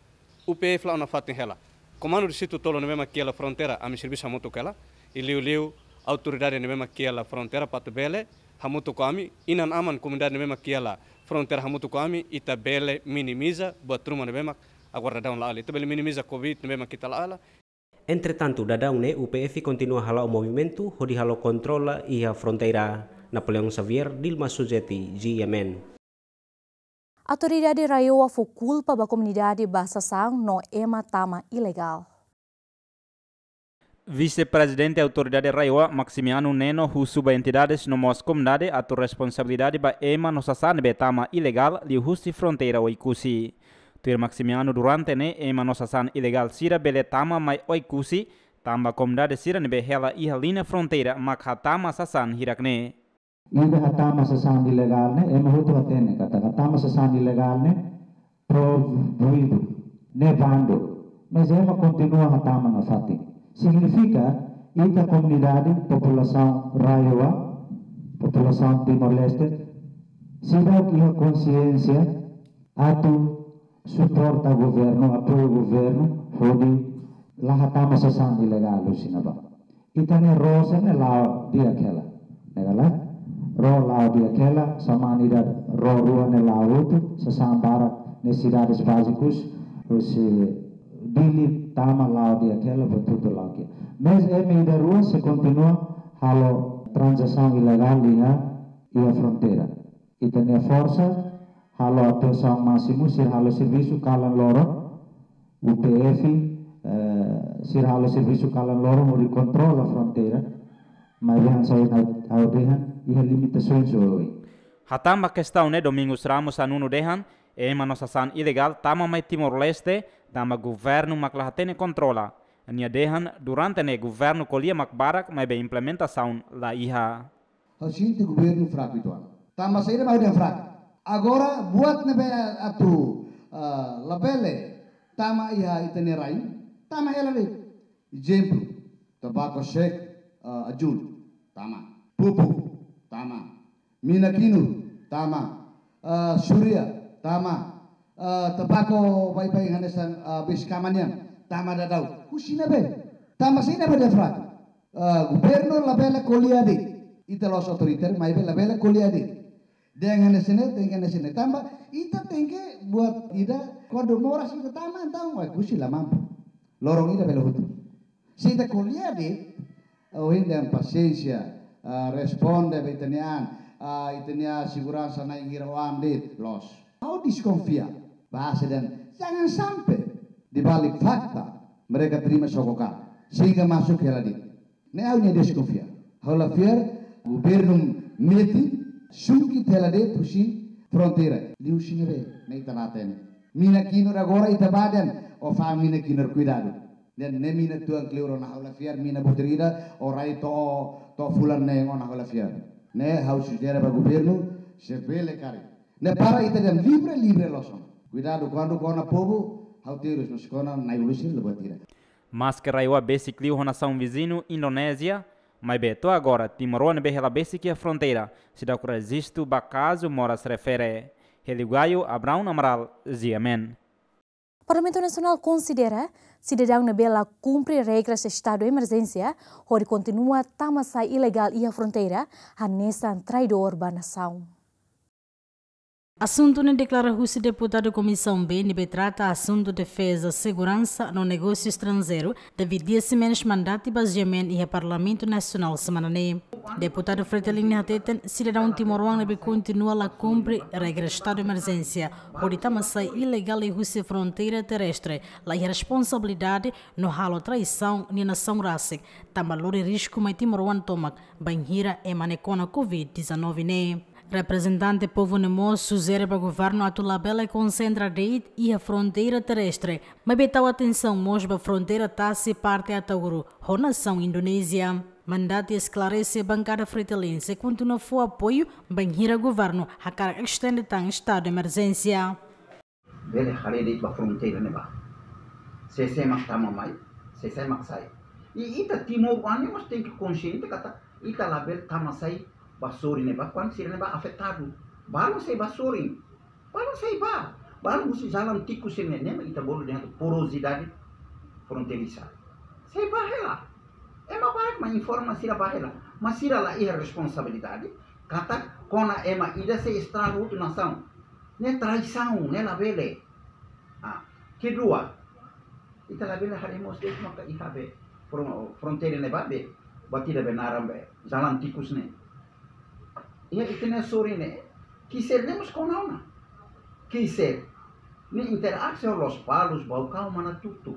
UPF la'o nafatin hela. Komandu distritu tolu ne'ebé mak iha hela fronteira, ami servisu hamutuk hela. I liuliu autoridade ne'ebé mak iha hela fronteira para atu bele hamutuk ho ami, inan-aman komunidade ne'ebé mak iha hela fronteira hamutuk ho ami, ita bele minimiza buat ruma ne'ebé mak agora daudaun la'o hela. Ita bele minimiza covid ne'ebé mak ita la'o hela. Entretantu, daudaun ne'e UPF kontinua hala'o movimentu hodi halo kontrola iha fronteira. Napoleão Xavier, Dilma Suzeti, G M N. Autoridade RAEOA fó kulpa ba komunidade ba sasán no ema tama ilegál. Vise-Prezidente Autoridade RAEOA, Maximiano Neno, husu ba entidades no mós komunidade atu responsabilidade ba ema no sasán ne'ebé tama ilegál liuhusi fronteira Oekusi. Tuir Maximiano, durante ne'e ema no sasán ilegál sira bele tama mai Oekusi, tanba komunidade sira ne'ebé hela iha liña fronteira mak hatama sasán hirak ne'e. Ida hatama sasán ilegál ne'e, ema hotu hatene katak hatama sasán ilegál ne'e proibidu, ne'e bandu. Mas ema kontinua hatama nafatin. Signifika, ita komunidade, populasaun RAEOA, populasaun Timor-Leste, seidauk iha konsiénsia atu suporta governu, apoiu governu, hodi la hatama sasán ilegál husi ne'ebá. Ita-nia ró sira-ne'e la'o di'ak hela. Ne'e ka lae? Ró la'o di'ak hela, semana ida ró rua ne'e la'o hotu, sasán barak, nesesidades bázikus, husi Dili tama la'o di'ak hela, buat hotu la'o di'ak. Mas ema ida rua sei kontinua halo tranzasaun ilegál iha, iha fronteira. Ita-nia forsa halo atuasaun másimu, sira halo servisu kalan loron, U P F, eh, sira halo servisu kalan loron hodi kontrola fronteira. Maibé hanesan ohin ha'u, ha'u dehan, iha limitasaun sira oin. Hatán ba kestaun ne'e, Domingos Ramos Anunu dehan, ema no sasán ilegál tama mai Timor-Leste, tanba governu mak la hatene kontrola. Nia dehan, durante ne'e governu ko'alia mak barak, maibé implementasaun la iha. Ha'u sente governu fraku uitoan. Tanba saida mak ha'u dehan fraku? Agora buat ne'ebé atu, ah, labele tama iha ita-nia rain, tama hela de'it. Ezemplu, tabako sek, ah, ajun, tama. Pupuk, tama. Mina kinur, tama. Ah, suria, tama. Ah, tabako baibain hanesan, ah, bes kama nian, tama daudaun. Husi ne'ebé? Tanba saida mak ha'u dehan fraku? Ah, governu labele ko'alia de'it. Ita la'ós autoritáriu, maibé labele ko'alia de'it. Dehan hanesan ne'e, dehan hanesan ne'e. Tanba ita tenke buat ida, kuandu moras ita tama, entaun, wah, husi la mampu. Loron ida bele hotu. Se ita ko'alia de'it, ohin dehan pasiénsia, ah, responde ba ita-nia an, ah, ita-nia seguransa na'in hira oan de'it, loos. Ha'u deskonfia, bahasa dehan, jangan sampai di balik fakta mereka terima sogokan sehingga masuk hela de'it. Ne'e ha'u-nia deskonfia. Ha'u la fiar governu metin sungki hela de'it husi fronteira. Liuhusi ne'ebé, ne'e ita la hatene. Mina kinur agora ita bá dehan, ó fa'an mina kinur, kuidadu. Dehan ne'e mina tuan kleur ona, ha'u la fiar mina buat ida, ó rai to'o, to'o fulan neen ona, ha'u la fiar. Ne'e ha'u sujere ba governu, se bele karik. Ne'e para ita dehan livre, livre loos ona. Kuidadu, kuandu kona povu, ha'u terus, mas kona nai ulu sira la buat ida. Maske rai-uwa besik liu ho nasaun viziñu Indonézia, maibé to'o agora timoroan ne'ebé hela besik iha fronteira seidauk rejistu ba kazu moras refere. Hélio Gaio, Abraão Amaral, G M N. Parlamentu Nasionál konsidera sidadaun ne'ebé la kumpre regras estadu emerjénsia hodi kontinua tama-sai ilegál iha fronteira hanesan traidór ba nasaun. Asuntu ne'e deklara husi deputadu Komisaun B ne'ebé trata asuntu defeza, seguransa no negósiu estranjeiru, David Dias Ximenes, mandati ba G M N iha Parlamentu Nasionál semana ne'e. Deputadu Fretilin hateten, sidadaun timoroan ne'ebé kontinua la kumpre regra estadu emerjénsia hodi tama-sai ilegál liuhusi fronteira terrestre, la iha responsabilidade no halo traisaun nia nasaun rasik, tanba lori risku mai timoroan tomak bainhira ema ne'e kona covid dezanove ne'e. Reprezentante povu ne'e mós sujere ba governu atu labele konsentra de'it iha fronteira terrestre, maibé tau atensaun mós ba fronteira tasi parte Ataúro ho nasaun Indonézia. Mandati esklarese bankada Fretilin sei kontinua fó apoiu bainhira governu hakarak estende tan estadu emerjénsia. Bele haree de'it ba fronteira ne'ebá. Sé-sé mak tama mai, sé-sé mak sai. I ita timoroan ne'e mós tenke konxiente katak ita labele tama-sai ba sorin ne'ebá, kuandu sira ne'ebá afetadu. Balun sei ba sorin. Balun sei ba. Balun husi jalan tikus ne'e, ne'e mak ita bolu dehan porosidade fronteiriza. Sei ba hela. Ema barak mak informa sira ba hela. Mas sira la iha responsabilidade katak kona ema ida sei estraga hotu nasaun. Ne'e traisaun, ne'e labele. Ah, kedua, ita labele haree mós de'it maka iha be fron-, fronteira ne'ebá be, buat ida be naran be jalan tikus ne'e. Iha ita-nia sorin ne'e, kiser ne'e mós kona ona. Kiser ne'e interaksi ho Lospalos, Baucau, Manatuto.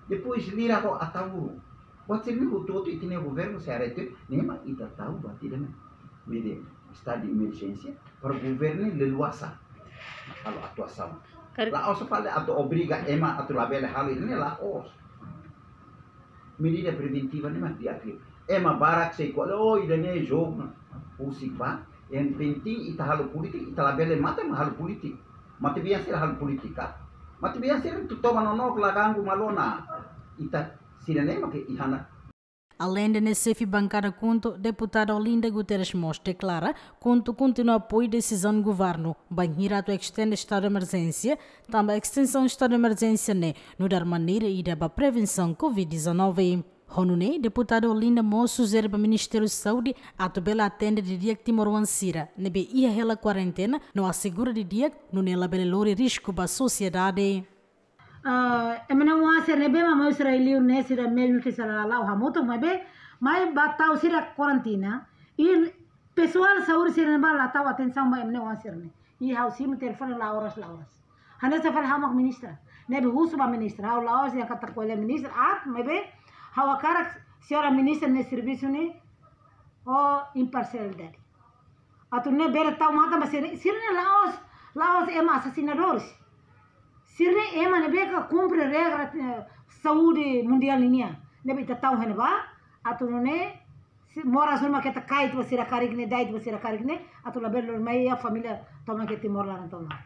Depois lira ho Ataúro. Buat sira-ne'e hotu-hotu ita-nia governu sei haree tiha, ne'e mak ita tau buat ida ne'e, mede estadu de emerjénsia para governu leluasa halo atuasaun. Kar- La'ós fali atu obriga ema atu labele halo ida-ne'e, la'ós. Medida preventiva ne'e mak di'ak liu. Ema barak sei ko'alia, oh, ida-ne'e jogu. Husik ba, yang penting ita halo polítika, ita labele mate mak halo polítika. Matebian sira halo polítika. Matebian sira atu toba nonook, la ganggu malu ona. Ita sira-ne'e mak iha ona. Aleinde ne'e, xefe bankada KHUNTO, deputada Olinda Guterres mós deklara KHUNTO kontinua apoiu desizaun governu bainhira atu estende estadu de emerjénsia, tanba estensaun estadu de emerjénsia ne'e nu'udar maneira ida ba prevensaun covid dezanove. Ho nune'e, deputada Olinda mós sujere ba Ministériu Saúde atu bele atende didi'ak timoroan sira ne'ebé iha hela kuarentena no asegura didi'ak, nune'e labele lori risku ba sosiedade. Ah, ema nia oan sira ne'ebé mak mai husi rai-liur ne'e sira mesmu ke sira la la'o hamutuk, maibé mai ba tau sira karantina. I pesoál saúde sira ne'ebá la tau atensaun ba ema nia oan sira-ne'e. I ha'u simu telefone la oras, la oras. Hanesan fali ha'u mak ministra. Ne'ebé husu ba ministra. Ha'u la'ós dehan katak ko'alia ministra aat, maibé ha'u hakarak señora ministra nia servisu ne'e ho imparsialidade. Atu nune'e bele tau matan ba sira, sira-ne'e la'ós, la'ós ema asasinadores. Sira-ne'e ema ne'ebé ke kumpre regra, eh, saúde mundiál ninian. Ne'ebé ita tau iha ne'ebá, atu nune'e, se moras uma keta kait ba sira karik ne'e, dait ba sira karik ne'e, atu labele lori mai iha família tomak iha Timor laran tomak.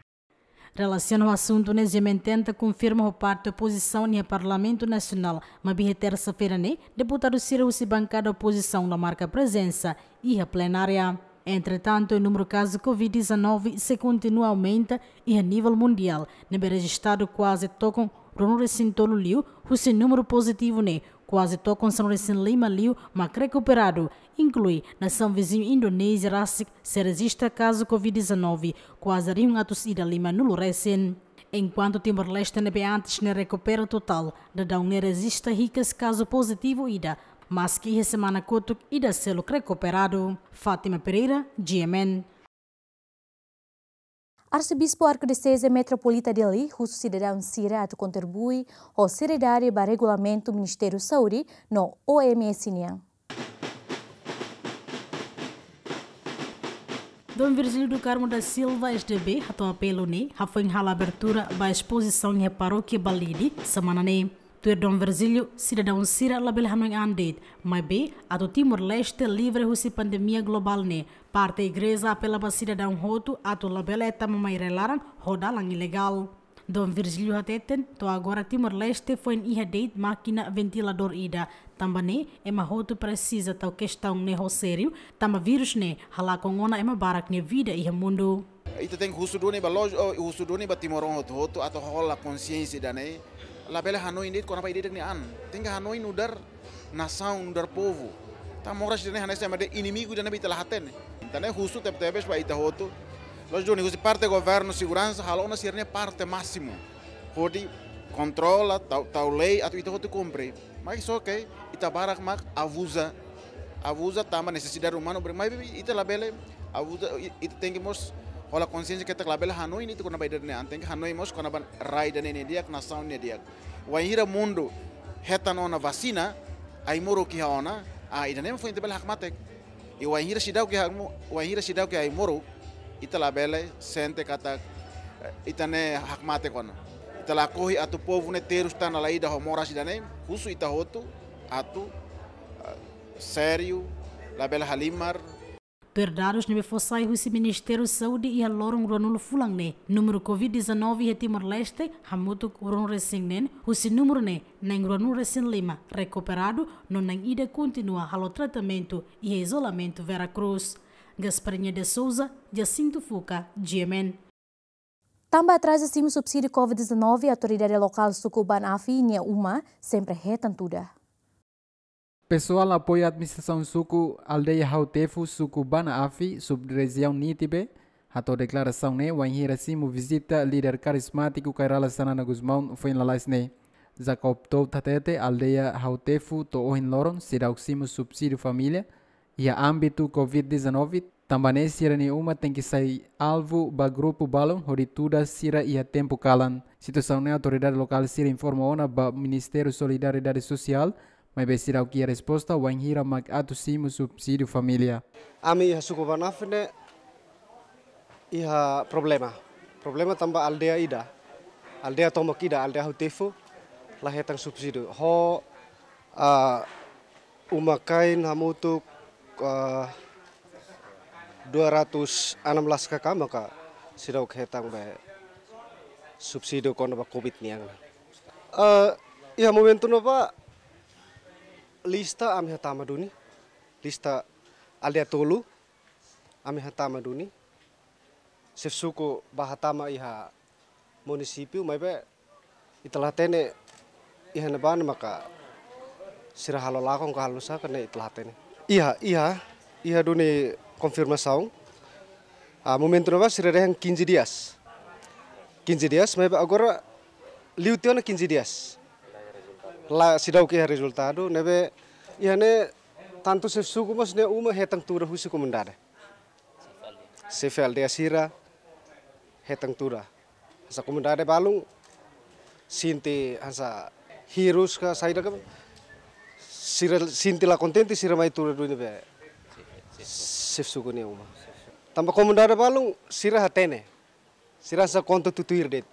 Relasiona ho asuntu ne'e, GMN tenta konfirma ho parte opozisaun iha Parlamentu Nasionál, maibé iha tersa-feira ne'e, deputadu sira husi bankada opozisaun la marka prezensa iha plenária. Entretantu, númeru kazu covid dezanove sei kontinua aumenta iha nivel mundiál, ne'ebé rejistadu kuaze tokon ruanulu-resin-tolu liu, husi númeru pozitivu ne'e kuaze tokon sanulu-resin-lima liu mak rekuperadu, inklui nasaun viziñu Indonézia rasik sei rejista kazu covid dezanove kuaze rihun atus ida limanulu resin. Enkuantu Timor-Leste ne'ebé antes ne'e rekupera totál, daudaun ne'e rejista hikas kazu pozitivu ida, maski iha semana kotuk ida seluk rekuperadu. Fátima Pereira, GMN. Arsebispu Arkidioséze Metropolita Dili husu sidadaun sira atu kontribui ho seriedade ba regulamentu Ministériu Saúde no OMS nian. Dom Virgílio do Carmo da Silva, SDB, hato'o apelu ne'e hafoin halo abertura ba espozisaun iha parókia Balide semana ne'e. Tuir Dom Virgílio, sidadaun sira labele hanoin an de'it, maibé atu Timor-Leste livre husi pandemia globál ne'e, parte igreja apela ba sidadaun hotu atu labele tama mai rai-laran ho dalan ilegál. Dom Virgílio hateten, to'o agora Timor-Leste foin iha de'it mákina ventiladór ida. Tanba ne'e, ema hotu presiza tau kestaun ne'e ho sériu, tanba vírus ne'e halakon ona ema barak nia vida iha mundu. Ita tenke husu duni ba loj-, oh, husu duni ba timoroan hotu-hotu atu hola konsiénsia ida-ne'e. Labele hanoin de'it kona-ba ida-idak nia an. Tenke hanoin nu'udar nasaun, nu'udar povu. Tanba moras ida-ne'e hanesan ema dehan inimigu ida-ne'ebé ita la hatene. Entaun ne'e husu tebe-tebes ba ita hotu. Loj duni husi parte governu, seguransa halo ona sira-nia parte másimu hodi kontrola, tau, tau lei atu ita hotu kumpre. Mas só ke ita barak mak abuza, abuza tanba nesesidade umanu, maibé ita labele abuza, i-, ita tenke mós hola konsiénsia katak labele hanoin de'it kona-ba ida-ne'e an, tenke hanoin mós kona-ba rai ida-ne'e nia di'ak, nasaun nia di'ak. Wainhira mundu hetan ona vasina, ai-moruk iha ona, ah, ida-ne'e foin ita bele hakmatek. I wainhira seidauk iha mo-, wainhira seidauk iha ai-moruk, ita labele sente katak, eh, ita ne'e hakmatek ona. Ita lakohi atu povu ne'e terus tan dala ida ho moras ida-ne'e, husu ita hotu atu, eh, sériu, labele halimar. Tuir dadus ne'ebé fó sai husi Ministériu Saúde, iha loron ruanulu fulan ne'e, númeru covid dezanove iha Timor-Leste hamutuk ruanulu-resin-neen, husi númeru ne'e na'in ruanulu-resin-lima rekuperadu, no na'in ida kontinua halo tratamentu iha izolamentu Vera Cruz. Gasparinha de Souza, Jacinto Fuca, GMN. Tanba atraza simu subsídiu covid dezanove, autoridade lokál suku Bana Afi nia uma sempre hetan tuda. Pesoál apoiu administrasaun suku aldeia Hautefu, suku Bana Afi, sub-rejiaun Nitibe, hato'o deklarasaun ne'e wainhira simu vizita líder karizmátiku Kay Rala Xanana Gusmão foin lalais ne'e. Jacob Touto hatete, aldeia Hautefu to'o ohin loron seidauk simu subsídiu família iha ámbitu covid dezanove, tanba ne'e sira-nia uma tenke sai alvu ba grupu balun hodi tuda sira iha tempu kalan. Situasaun ne'e autoridade lokál sira informa ona ba Ministériu Solidariedade Sosiál, maibé seidauk iha resposta wainhira mak atu simu subsídiu família. Ami iha suku Bana Afi ne'e iha problema. Problema tanba aldeia ida, aldeia tomak ida, aldeia Hautefu, la hetan subsídiu. Ho, ah, uma-kain hamutuk, ah, dua ratus enam belas K K maka seidauk hetan be subsídiu kona-ba covid nian. Ah, iha momentu ne'ebá lista ami hatama duni, lista aldeia tolu, ami hatama duni. Xefe suku bá hatama iha munisípiu, maibé ita la hatene iha ne'ebá ne'e maka sira halo lakon ka halo saka ne'e ita la hatene. Iha, iha, iha duni konfirmasaun. Ah, momentu ne'ebá sira dehan quinze dias. Quinze dias, maibé agora Liu tiha ona quinze dias. La, seidauk iha rezultadu, ne'ebé iha ne'e tantu xefe suku mós nia uma hetan tuur husi komunidade. Xefe aldeia sira hetan tuur. Hanesan komunidade balun sente hanesan hirus ka saida ka, sira sente la kontente, sira mai tuur duni be xefe suku nia uma. Tanba komunidade balun sira hatene. Sira hanesan konta tutuir de'it.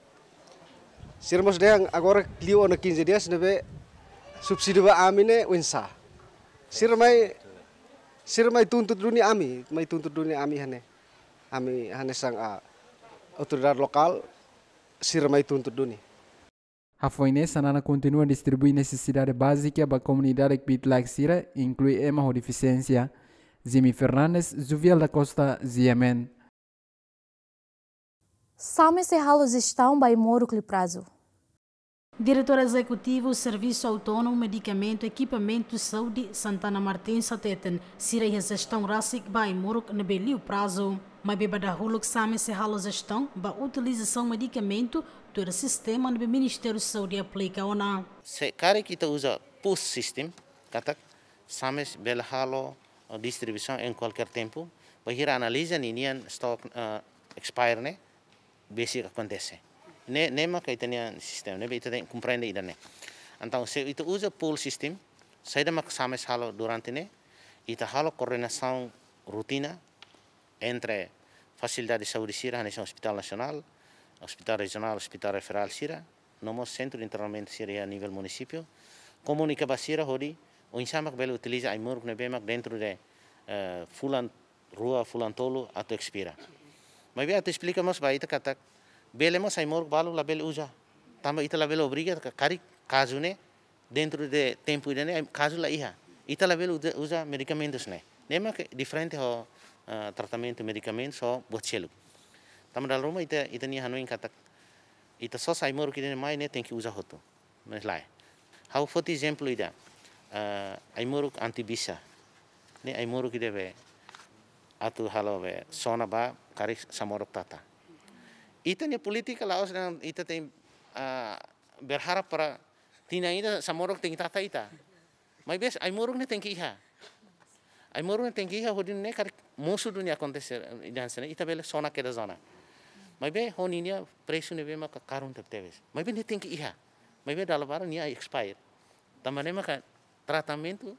Sira mós dehan agora liu ona quinze dias ne'ebé subsídiu ba ami ne'e oinsá. Sira mai, sira mai tuntut duni ami, mai tuntut duni ami iha ne'e. Ami hanesan, ah, autoridade lokál, sira mai tuntut duni. Hafoin ne'e, Xanana kontinua distribui nesesidade bázika ba komunidade kbiit-laek sira, inklui ema ho defisiénsia. Jimmy Fernandes, Juvial da Costa, G M N. Same sei halo jestaun ba ai-moruk liu prazu. Diretór Ezekutivu Servisu Autónomu Medikamentu Ekipamentu Saúde, Santana Martins, hateten, sira iha jestaun rasik ba ai-moruk ne'ebé liu prazu. Maibé ba dahuluk Same sei halo jestaun ba utilizasaun medikamentu tuir sistema ne'ebé Ministériu Saúde aplika ona. Se karik ita uza PUS system, katak Same bele halo, eh, distribuisaun em qualquer tempo, bainhira analiza ninian stok, eh, expire ne'e, besik akontese. Ne'e, ne'e maka ita-nia sistema, ne'ebé ita tenke komprende ida-ne'e. Entaun, se ita uza pool system, saida maka Same halo durante ne'e, ita halo koordenasaun rotina entre fasilidade saúde sira, hanesan Hospital Nasionál, Hospital Rejionál, Hospital Referál sira, no mós sentru de internamentu sira iha nivel munisípiu, komunika ba sira hodi oinsá mak bele utiliza ai-moruk ne'ebé mak dentru de, eh, fulan rua, fulan tolu atu expira. Maibé atu esplika mós ba ita katak bele mós ai-moruk balu labele uza. Tanba ita labele obriga ka-, karik kazu ne'e dentru de tempu ida-ne'e, ai, kazu la iha. Ita labele uza, uza medikamentus ne'e. Ne'e mak diferente ho, eh, tratamentu medikamentus ho buat seluk. Tanba dala ruma ita, ita-nia hanoin katak ita sosa ai-moruk ida-ne'e mai ne'e tenke uza hotu. Mas lae. Ha'u foti ezemplu ida. Eh, ai-moruk anti-bisa. Ne'e ai-moruk ida be atu halo be sona ba karik samorok tata. Ita-nia polítika la'ós dehan ita tenke, ah, berharap para tinan ida samorok tenke tata ita. Maibé ai-moruk ne'e tenke iha. Ai-moruk ne'e tenke iha hodi ne'e karik mosu duni akontese, dan sene ita bele sona kedas ona. Maibé ho ninia presu ne'ebé maka karun tebetebes. Maibé ne'e tenke iha. Maibé dala barak nia expire. Tanba ne'e maka tratamentu,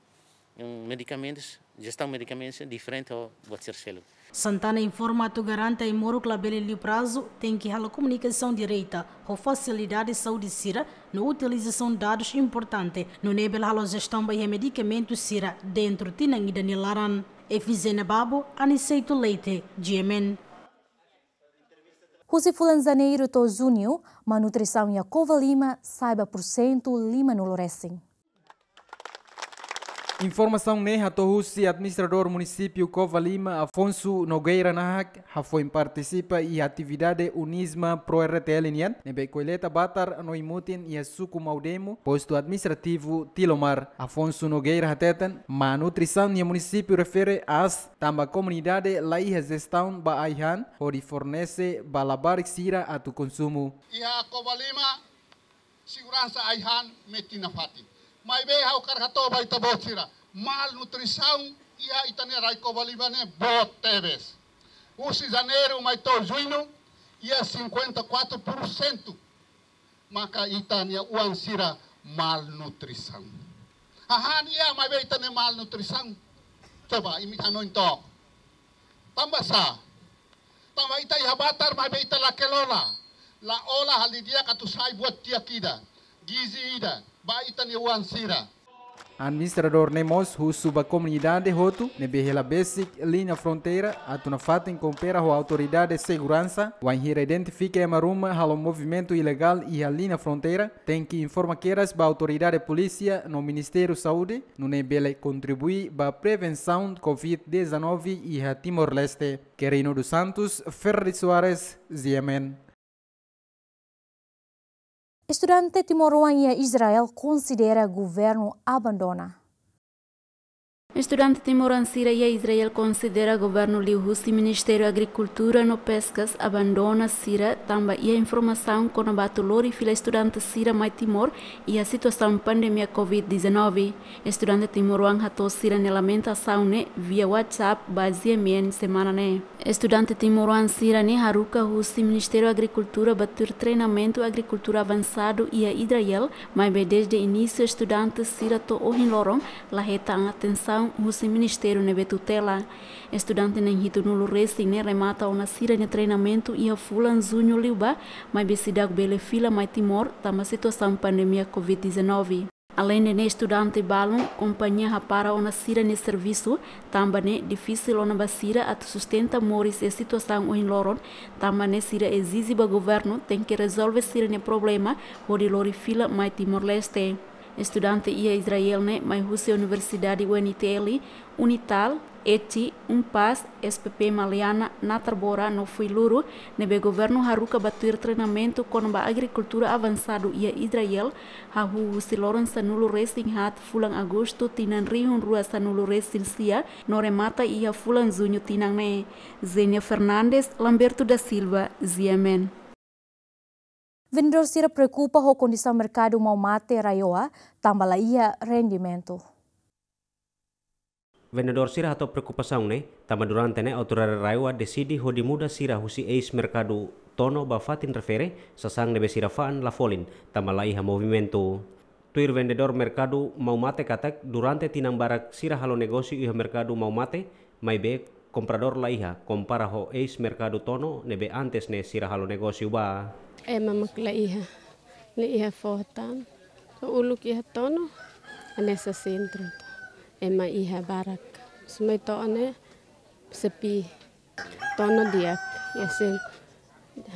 mm, medikamentus, jestaun medikamentus diferente ho buat sira seluk. Santana informa atu garante ai-moruk labele liu prazu, tenke halo komunikasaun direta ho fasilidade saúde sira no utilizasaun dadus importante, nune'e bele halo jestaun ba iha medikamentu sira dentru tinan ida nia laran. Efizena Babo, Aniceto Leite, G M N. Husi fulan Janeiru to'o Juñu, malnutrisaun iha Covalima sa'e ba pursentu lima-nulu resin. Informasaun ne'e hato'o husi Administradór Munisípiu Covalima, Afonso Nogueira Nahak, hafoin partisipa iha atividade UNISMA Pro R T L nian, ne'ebé koleta batar no ai-mutin iha suku Maudemo, postu administrativu Tilomar. Afonso Nogueira hateten, malnutrisaun iha munisípiu refere aas tanba komunidade la iha jestaun ba ai-han hodi fornese ba labarik sira atu konsumu. Iha Covalima, seguransa ai-han metin nafatin. Maibé ha'u hakarak hato'o ba ita-boot sira, malnutrisaun iha ita-nia rai Covalima ne'e boot tebes. Husi Janeiru mai to'o Juñu, iha cinquenta e quatro por cento maka ita-nia oan sira malnutrisaun. Hahán iha maibé ita-nia malnutrisaun. Coba, imi hanoin took. Tanba sá? Tanba ita iha batar maibé ita la kelola. La olah halo di'ak atu sai buat di'ak ida, gizi ida ba ita-nia oan sira. Administradór ne'e mós husu ba komunidade hotu ne'ebé hela besik liña fronteira atu nafatin koopera ho autoridade seguransa, wainhira identifika ema ruma halo movimentu ilegál iha liña fronteira, tenke informa kedas ba autoridade polísia no Ministériu Saúde, nune'e bele kontribui ba prevensaun Covid dezanove iha Timor-Leste. Querino dos Santos, Ferdi Soares, G M N. Estudante timoroan iha Israel konsidera governu abandona. Estudante timoroan sira iha Israel konsidera governu liuhusi Ministériu Agrikultura no Peskas abandona sira tanba iha informasaun kona-ba atu lori fila estudante sira mai Timor iha situasaun pandemia covid dezanove. Estudante timoroan hato'o sira-nia lamentasaun ne'e via WhatsApp ba G M N semana ne'e. Estudante timoroan sira-ne'e haruka husi Ministériu Agrikultura ba tuir treinamentu agrikultura avansadu iha Israel, maibé dezde inísiu estudante sira to'o ohin loron la hetan atensaun husi ministériu ne'ebé tutela. Estudante na'in hitunulu resin ne'e remata ona sira-nia treinamentu iha fulan Juñu liubá, maibé seidauk bele fila mai Timor tanba situasaun pandemia covid dezanove. Aleinde ne'e, estudante balun kompañia hapara ona sira-nia servisu, tanba ne'e difisil ona ba sira atu sustenta moris iha situasaun ohin loron, tanba ne'e sira ezije ba governu tenke rezolve sira-nia problema hodi lori fila mai Timor-Leste. Estudante iha Israel ne'e mai husi Universidade U N T L, Unital, ETI, UNPAZ, S P P Maliana, Natarbora no Fuiloro, ne'ebé governu haruka ba tuir treinamentu kona-ba agrikultura avansadu iha Israel, hahú husi loron sanulu resin haat fulan Agostu tinan rihun rua sanulu resin sia, no remata iha fulan Juñu tinan ne'e. Zenia Fernandes, Lamberto da Silva, G M N. Vendedór sira preokupa ho kondisaun merkadu Maumate RAEOA, tanba la iha rendimentu. Vendedór sira hato'o preokupasaun ne'e, tanba durante ne'e autoridade RAEOA deside hodi muda sira husi eis merkadu Tono ba fatin refere, sasán ne'ebé sira fa'an la folin, tanba la iha movimentu. Tuir vendedór merkadu Maumate katak, durante tinan barak sira halo negósiu iha merkadu Maumate, maibé kompradór la iha, kompara ho eis merkadu Tono ne'ebé antes ne'e sira halo negósiu ba. Ema mak la iha, la iha fó tan. Uluk iha Tono, hanesan sentru. Ema iha barak. Sumai to'o ne'e sepi. Tono di'ak, iha sen-,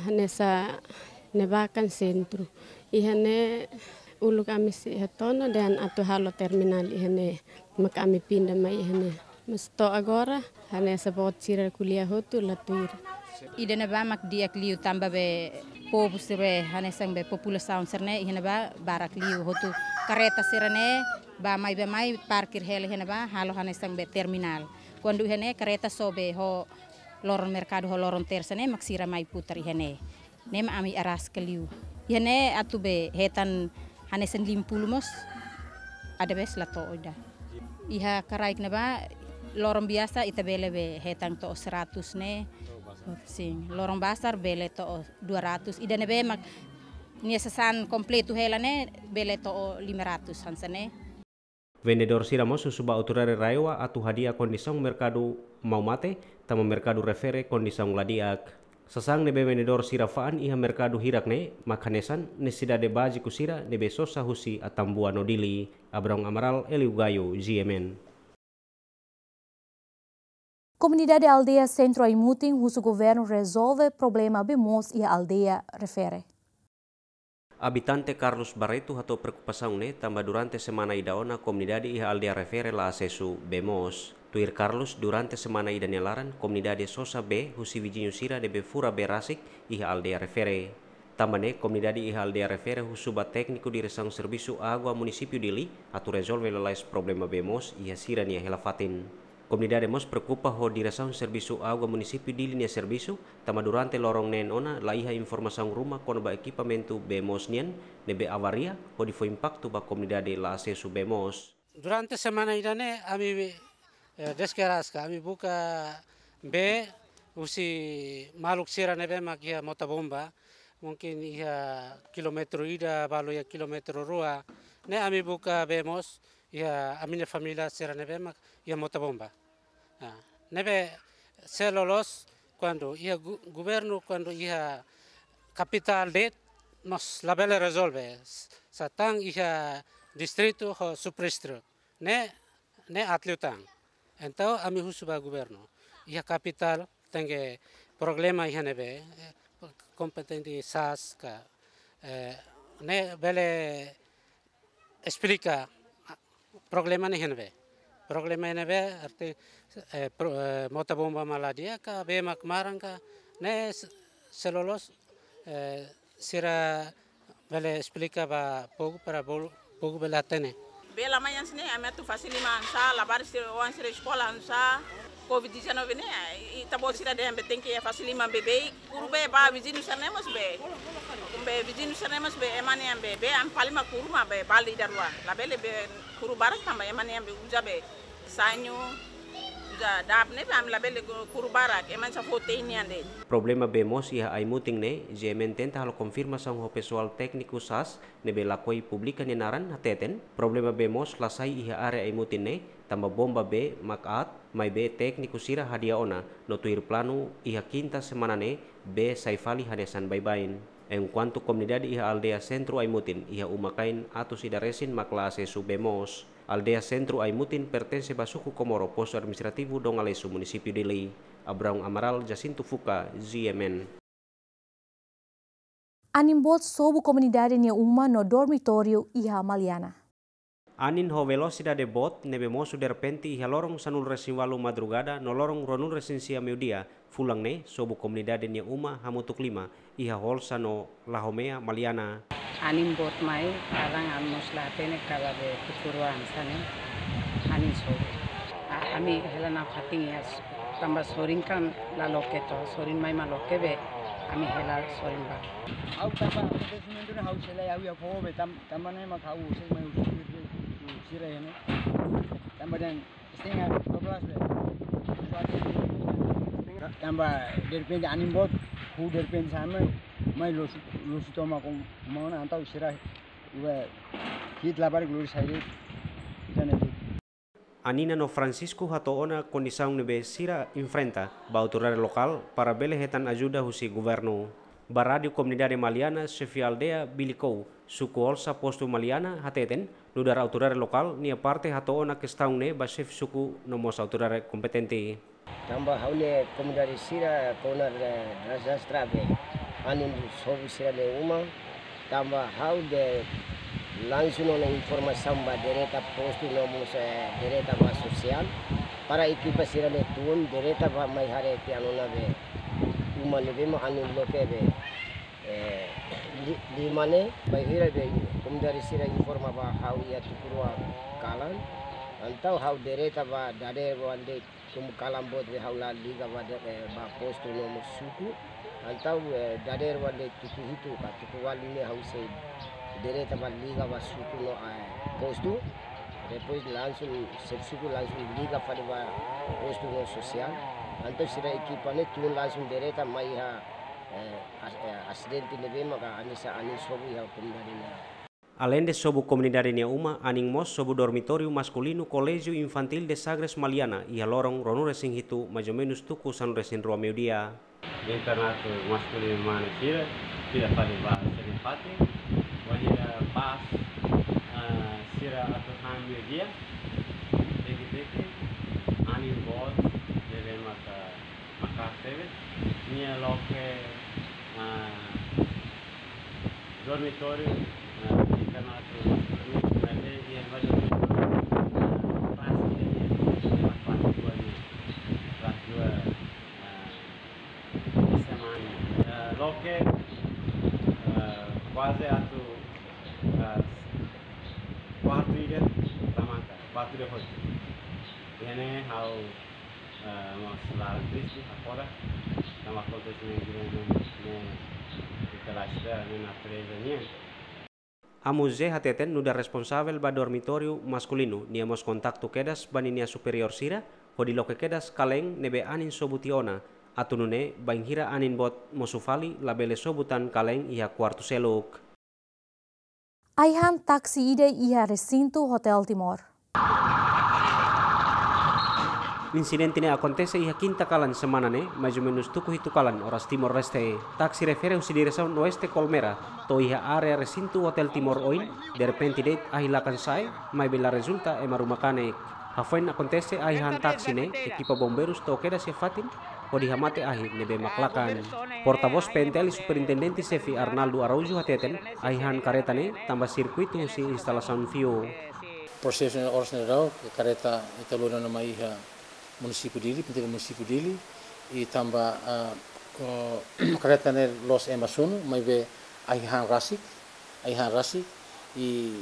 hanesan ne'ebá kan sentru. Iha ne'e uluk ami sei iha Tono dehan atu halo terminál iha ne'e. Maka ami pinda mai iha ne'e. Mas to'o agora, hanesan boot sira ko'alia hotu la tuir. Ida-ne'ebá mak di'ak liu tanba be povu sira be hanesan be populasaun sira-ne'e iha ne'ebá barak liu hotu karreta sira-ne'e bá mai bá mai parkir hela iha ne'ebá halo hanesan be terminál. Kuandu iha ne'e karreta só be ho loron merkadu ho loron tersa ne'e mak sira mai putar iha ne'e. Ne'e mak ami araska liu. Iha ne'e atu be hetan hanesan lima puluh mós, ada bes la to'o ida. Iha karaik ne'ebá loron biasa ita bele be hetan to'o seratus ne'e. Sin, loron bazar bele to'o dua ratus. Ida-ne'ebé mak nia sasán kompletu hela ne'e bele to'o lima ratus hanesan ne'e. Vendedór sira mós husu ba autoridade RAEOA atu hadi'a kondisaun merkadu Maumate, tanba merkadu refere kondisaun la di'ak. Sasán ne'ebé vendedór sira fa'an iha merkadu hirak ne'e mak hanesan nesesidade báziku sira ne'ebé sosa husi Atambua no Dili. Abrão Amaral, Hélio Gaio, G M N. Komunidade aldeia Sentru Aimutin husu governu rezolve problema bee moos iha aldeia refere. Abitante Carlos Barreto hato'o preokupasaun ne'e tanba durante semana ida ona komunidade iha aldeia refere la asesu bee moos. Tuir Carlos, durante semana ida nia laran komunidade sosa bee husi viziñu sira ne'ebé fura bee rasik iha aldeia refere. Tanba ne'e komunidade iha aldeia refere husu ba tékniku diresaun servisu água munisípiu Dili atu rezolve lalais problema bee moos iha sira-nia hela fatin. Komunidade mós preokupa ho diresaun servisu água munisípiu Dili nia servisu, tanba durante loron neen ona la iha informasaun ruma kona-ba ekipamentu bee moos nian ne'ebé avaria hodi fó impaktu ba komunidade la asesu bee moos. Durante semana ida-ne'e ami, eh, dezke araska, ami buka bee husi maluk sira ne'ebé mak iha mota bomba, mungkin iha kilómetru ida, balu iha kilómetru rua. Ne'e ami buka bee moos iha ami-nia família sira ne'ebé mak iha mota bomba. Ah, ne'ebé sei loloos kuandu iha gu-, governu kuandu iha kapitál de'it mós labele rezolve. S-, sá tan iha distritu ho subdistritu. Ne'e, ne'e aat liután. Entaun ami husu ba governu. Iha kapitál tenke problema iha ne'ebé, eh, kompetente sasán ka, eh, ne'e bele esplika problema ne'e iha ne'ebé. Problema iha ne'ebé arti, eh, pro-, eh, mota bomba mak la di'ak ka, bee mak maran ka, ne'e s-, sei loloos, eh, sira bele esplika ba povu para bolu, povu bele hatene. Bee lama hanesan ne'e, ami atu fase liman hanesan, labarik sira, oan sira eskola hanesan, covid dezanove ne'e, i, i, ita-boot sira dehan be tenke fase liman beibeik, kuru bee ba viziñu sira-ne'e mós bee. Be viziñu sira-ne'e mós bee, ema ne'e bee, bee ami fali mak kuru mak bee, balde ida rua. Labele bee kuru barak tanba ema ne'e bee uza bee, sañu, uza dap ne'e bee, ami labele ku-, kuru barak, ema sira fó te'in nian de'it. Problema bee moos iha Aimutin ne'e, G M N tenta halo konfirmasaun ho pesoál tékniku SAS, ne'ebé lakohi publika nia naran hateten, problema bee moos la sai iha área Aimutin ne'e, tanba bomba bee mak aat, maibé tékniku sira hadi'a ona, no tuir planu iha kinta semana ne'e, bee sai fali hanesan baibain. Enkuantu komunidade iha aldeia sentru Aimutin, iha uma-kain atus ida resin mak la asesu bee moos. Aldeia sentru Aimutin pertense ba suku Komoro, postu administrativu Dongalesu, munisípiu Dili. Abraão Amaral, Jacinto Fuca, G M N. Anin boot sobu komunidade nia uma no dormitóriu iha Maliana. Anin ho velosidade boot ne'ebé mosu derrepente iha loron sanulu-resin-ualu madrugada no loron ruanulu-resin-sia meiudia, fulan ne'e, sobu komunidade nia uma hamutuk lima, iha Holsa no Lahomea, Maliana. Anin boot mai, kalan ami mós la hatene kalan be tuku rua hanesan ne'e, anin sobu. A, ami hela nafatin iha s-, tanba sorin kan la loke to, sorin mai mak loke be, ami hela sorin ba. Ha'u tanba akontesimentu ne'e ha'u sei la iha ha'u-nia foho be tam-, tanba ne'e mak ha'u sei mai husu, husu sira iha ne'e. Tanba dehan setengah dua belas be. Tanba derrepente anin boot, huu derrepente hanesan ne'e, mai loos, loos tomak ho uma ona entaun sira, iha, hi'it labarik lori sai de'it, ida-ne'e de'it. Anina no Francisco hato'o ona kondisaun ne'ebé sira enfrenta ba autoridade lokál para bele hetan ajuda husi governu. Ba Rádiu Komunidade Maliana, xefe aldeia Bilikau, suku Holsa, postu Maliana, hateten, nu'udar autoridade lokál nia parte hato'o ona kestaun ne'e ba xefe suku no mós autoridade kompetente. Tanba ha'u-nia komunidade sira kona, eh, dezastre be anin sobu sira-nia uma, tanba ha'u dehan langsung ona informasaun ba direta postu no mós, eh, direta ba sosiál, para ekipa sira-ne'e tun direta ba mai haree tiha ona be uma ne'ebé mak anin loke be, eh, li-, lima ne'e, bainhira be komunidade sira informa ba ha'u iha tuku rua kalan, entaun ha'u direta ba dadeer-oan de'it, tanba kalan boot be ha'u la liga ba de-, eh, ba postu no mós suku. Entaun, eh, dadeer-oan de'it tuku hitu ka tuku ualu ne'e ha'u sei direta ba liga ba suku no, eh, postu. Depois langsung xefe suku langsung liga fali ba postu no sosiál. Entaun sira ekipa ne'e tun langsung direta mai iha, eh, as-, eh, asidente ne'ebé maka hanesan anin sobu iha komunidade ne'e. Aleinde sobu komunidade nia uma, anin mós sobu dormitóriu maskulinu Colégio Infantil de Sagres Maliana, iha loron ruanulu-resin-hitu, mais ou menos tuku sanulu-resin-rua meiudia. Internatu maskulinu mane sira, sira fali ba sira-nia fatin, wainhira pas, ah, sira atu han meiudia, teke-teke, anin boot, ne'ebé maka maka'as tebes, nia loke, ah, dormitóriu, ah, internatu maskulinu, ne'ebé iha ba dormitóriu, ah, kelas ida, iha kelas dua nian, kelas dua, ah, S M A nian. Ah, loke, ah, kuaze atu, ah, kuartu ida la maka, kuartu ida hotu. Iha ne'e ha'u, ah, mós laran triste, hakfodak, tanba akontesimentu ne'e, ne'e, ne'e, ne'e, ne'e natureza nian. Amu Zé hateten nu'udar responsavel ba dormitóriu maskulinu, nia mós kontaktu kedas ba ninia superiór sira, hodi loke kedas kaleen ne'ebé anin sobu tiha ona, atu nune'e bainhira anin boot mosu fali labele sobu tan kaleen iha kuartu seluk. Ai-han taksi ida iha resintu Hotel Timor. Insidente ne'e akontese iha kinta kalan semana ne'e, mais ou menos tuku hitu kalan oras Timor-Leste. Taksi refere husi diresaun oeste Colmera, to'o iha área resintu Hotel Timor oin, derrepente de'it ahi lakan sa'e, maibé la rezulta ema ruma kanek. Hafoin akontese ai-han taksi ne'e, ekipa bombeirus to'o kedas iha fatin, hodi hamate ahi ne'ebé mak lakan. Portavós P N T L Superintendente Xefe Arnaldo Araújo hateten, ai-han kareta ne'e tanba sirkuitu husi instalasaun fiu. Prosesu ne'e oras ne'e daudaun, kareta ita lori ona mai iha munisípiu Dili, P N T L munisípiu Dili, i tanba, ah, oh, kareta ne'e loos ema sunu, maibé ai-han rasik, ai-han rasik, i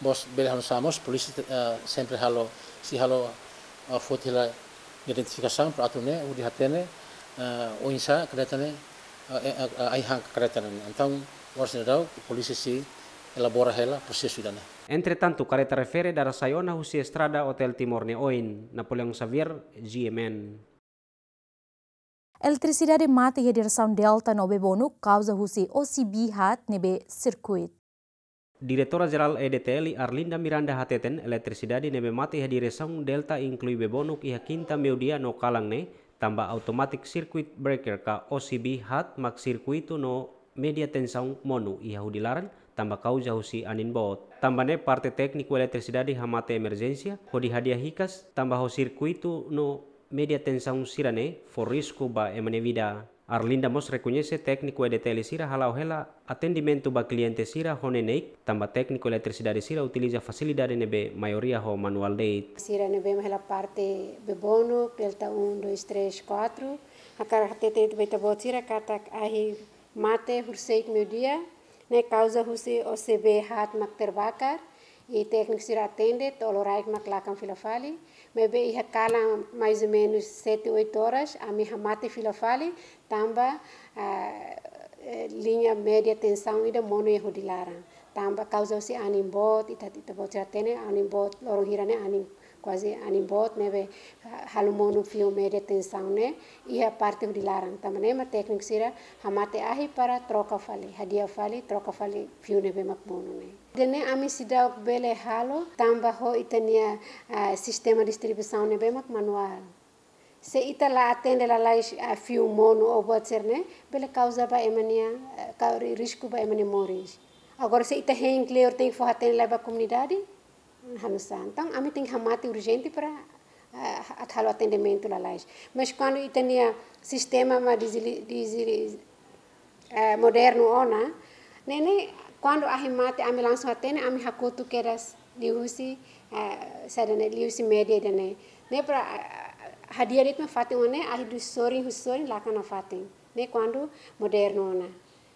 Bos bele halo sá mós, polísia, eh, sempre halo, sei halo, eh, foti hela identifikasaun para atu nune'e, hodi hatene, eh, oinsá kareta ne'e, eh, eh, eh, ai-han kareta ne'e. Entaun, oras ne'e daudaun, polísia sei elabora hela prosesu ida-ne'e. Entretantu, kareta refere dada sai ona husi estrada Hotel Timor nia oin, Napoleão Xavier, G M N. Eletrisidade mate iha diresaun Delta no Bebonuk kauza husi O C B haat ne'ebé sirkuitu. Diretora Jerál E D T L Arlinda Miranda hateten eletrisidade ne'ebé mate iha diresaun Delta inklui Bebonuk iha kinta meiudia no kalan ne'e, tanba automatic circuit breaker ka O C B haat mak sirkuitu no média tensaun monu iha hudi laran, tanba kauza husi anin boot. Tanba ne'e parte tékniku eletrisidade hamate emerjénsia, hodi hadi'a hikas, tanba ho sirkuitu no média tensaun sira-ne'e fó risku ba ema nia vida. Arlinda mós rekoñese tékniku E D T L sira hala'o hela atendimentu ba kliente sira ho neineik, tanba tékniku eletrisidade sira utiliza fasilidade ne'ebé maioria ho manuál de'it. Sira ne'ebé mak hela parte Bebonuk, Delta um, dois, três, quatro. Hakarak hateten ba ita-boot sira katak ahi mate husi meiudia, ne'e kauza husi O C B haat mak terbakar, i tékniku sira atende, to'o loraik mak lakan fila fali, maibé iha kalan mais ou menos sete, oito horas, ami hamate fila fali, tanba, ah, eh, liña média tensaun ida monu iha hudi laran. Tanba kauza husi anin boot, ita, ita-boot sira hatene, anin boot, loron hira-ne'e anin kuaze anin boot ne'ebé, ah, halo monu fiu média tensaun ne'e iha parte hudi laran. Tanba ne'e mak tékniku sira hamate ahi para troka fali, hadi'a fali, troka fali fiu ne'ebé mak monu ne'e. Ida-ne'e ami seidauk bele halo tanba ho ita-nia, ah, sistema distribuisaun ne'ebé mak manuál. Se ita la atende lalais, ah, fiu monu ou boot sira-ne'e, bele kauza ba ema nia, ah, kau ri-, risku ba ema nia moris. Agora se ita hein kleur tenke fó hatene lai ba komunidade, halo nu'usá. Entaun, ami tenke hamate urjente para, ah, atu halo atendimentu lalais. Mas kuandu ita-nia sistema mak dizili-, dizili-, eh, modernu ona, ne'e ne'e kuandu ahi mate ami langsung hatene, ami hakotu kedas liuhusi, eh, saida ne'e, liuhusi média ida-ne'e. Ne'e para, eh, hadi'a de'it mak fatin oan ne'e, ahi husi sorin, husi sorin lakan nafatin. Ne'e kuandu modernu ona.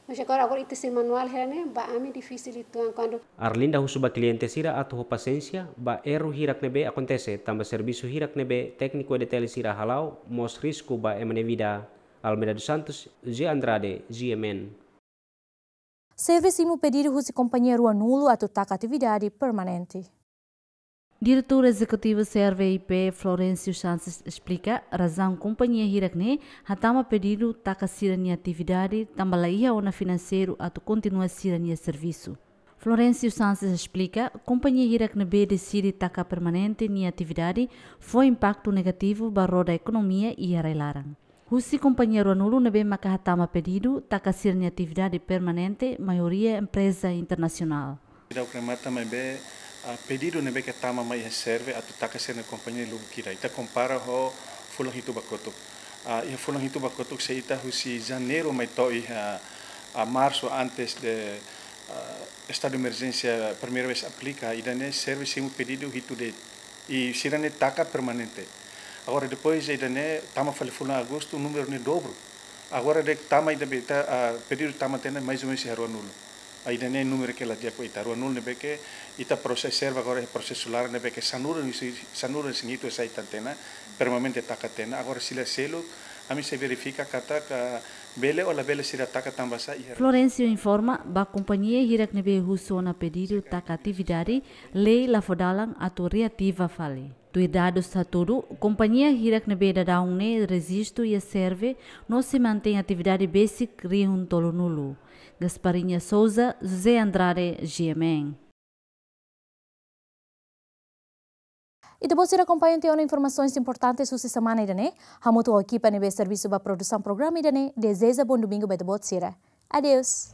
Mas agora, agora ita sei manuál hela ne'e, ba ami difisil uitoan kuandu. Arlinda husu ba kliente sira atu ho pasiénsia, ba erru hirak ne'ebé akontese, tanba servisu hirak ne'ebé tékniku E D T L sira hala'o, mós risku ba ema nia vida. Almeida dos Santos, G Andrade, G M N. Serve simu pedidu husi kompañia Ruanulu atu taka atividade permanente. Diretór Ezekutivu Serve I P, Florencio Sanches esplika razaun kompañia hirak-ne'e hatama pedidu taka sira-nia atividade, tanba la iha ona finanseiru atu kontinua sira-nia servisu. Florencio Sanches esplika, kompañia hirak ne'ebé deside taka permanente nia atividade fó impaktu negativu ba roda ekonomia iha rai-laran. Husi kompañia Ruanulu ne'ebé maka hatama pedidu taka sira-nia atividade permanente, maioria empreza internasionál. Ita remata maibé, ah, pedidu ne'ebé ke tama mai iha Serve atu taka sira-nia kompañia lubuk hira. Ita kompara ho fulan hitu ba kotuk. Ah, iha fulan hitu ba kotuk se ita husi Janeiru mai to'o iha, ah, Marsu antes de, ah, estadu de emerjénsia primeira vez aplika, ida-ne'e Serve simu pedidu hitu de'it. I sira-ne'e taka permanente. Agora, depois ida-ne'e tama fali fulan Agostu, númeru ne'e dobru. Agora de'it tama ida be ita, ah, pedidu tama tiha ona mais ou menos iha Ruanulu. Ah, ida-ne'e númeru ke la di'ak ba ita. Ruanulu ne'ebé ke ita prosesu Serve agora iha prosesu laran ne'ebé ke sanulu-resin, sanulu-resin-hitu sai tiha ona, permanente taka tiha ona. Agora sira seluk, ami sei verifika katak bele ou labele sira taka tanba sá iha. Florencio informa, ba kompañia hirak ne'ebé husu ona pedidu taka atividade, lei la fó dalan atu reativa fali. Tuir dadus hatudu, kompañia hirak ne'ebé daudaun ne'e rejistu iha Serve no sei mantein atividade besik rihun tolunulu. Gasparinha Souza, José Andrade, G M N. Ita-boot sira akompaña tiha ona informasaun importante husi semana ida-ne'e, hamutuk ho ekipa ne'ebé servisu ba produsaun programa ida-ne'e, dezeja bom domingo ba ita-boot sira. Adeus.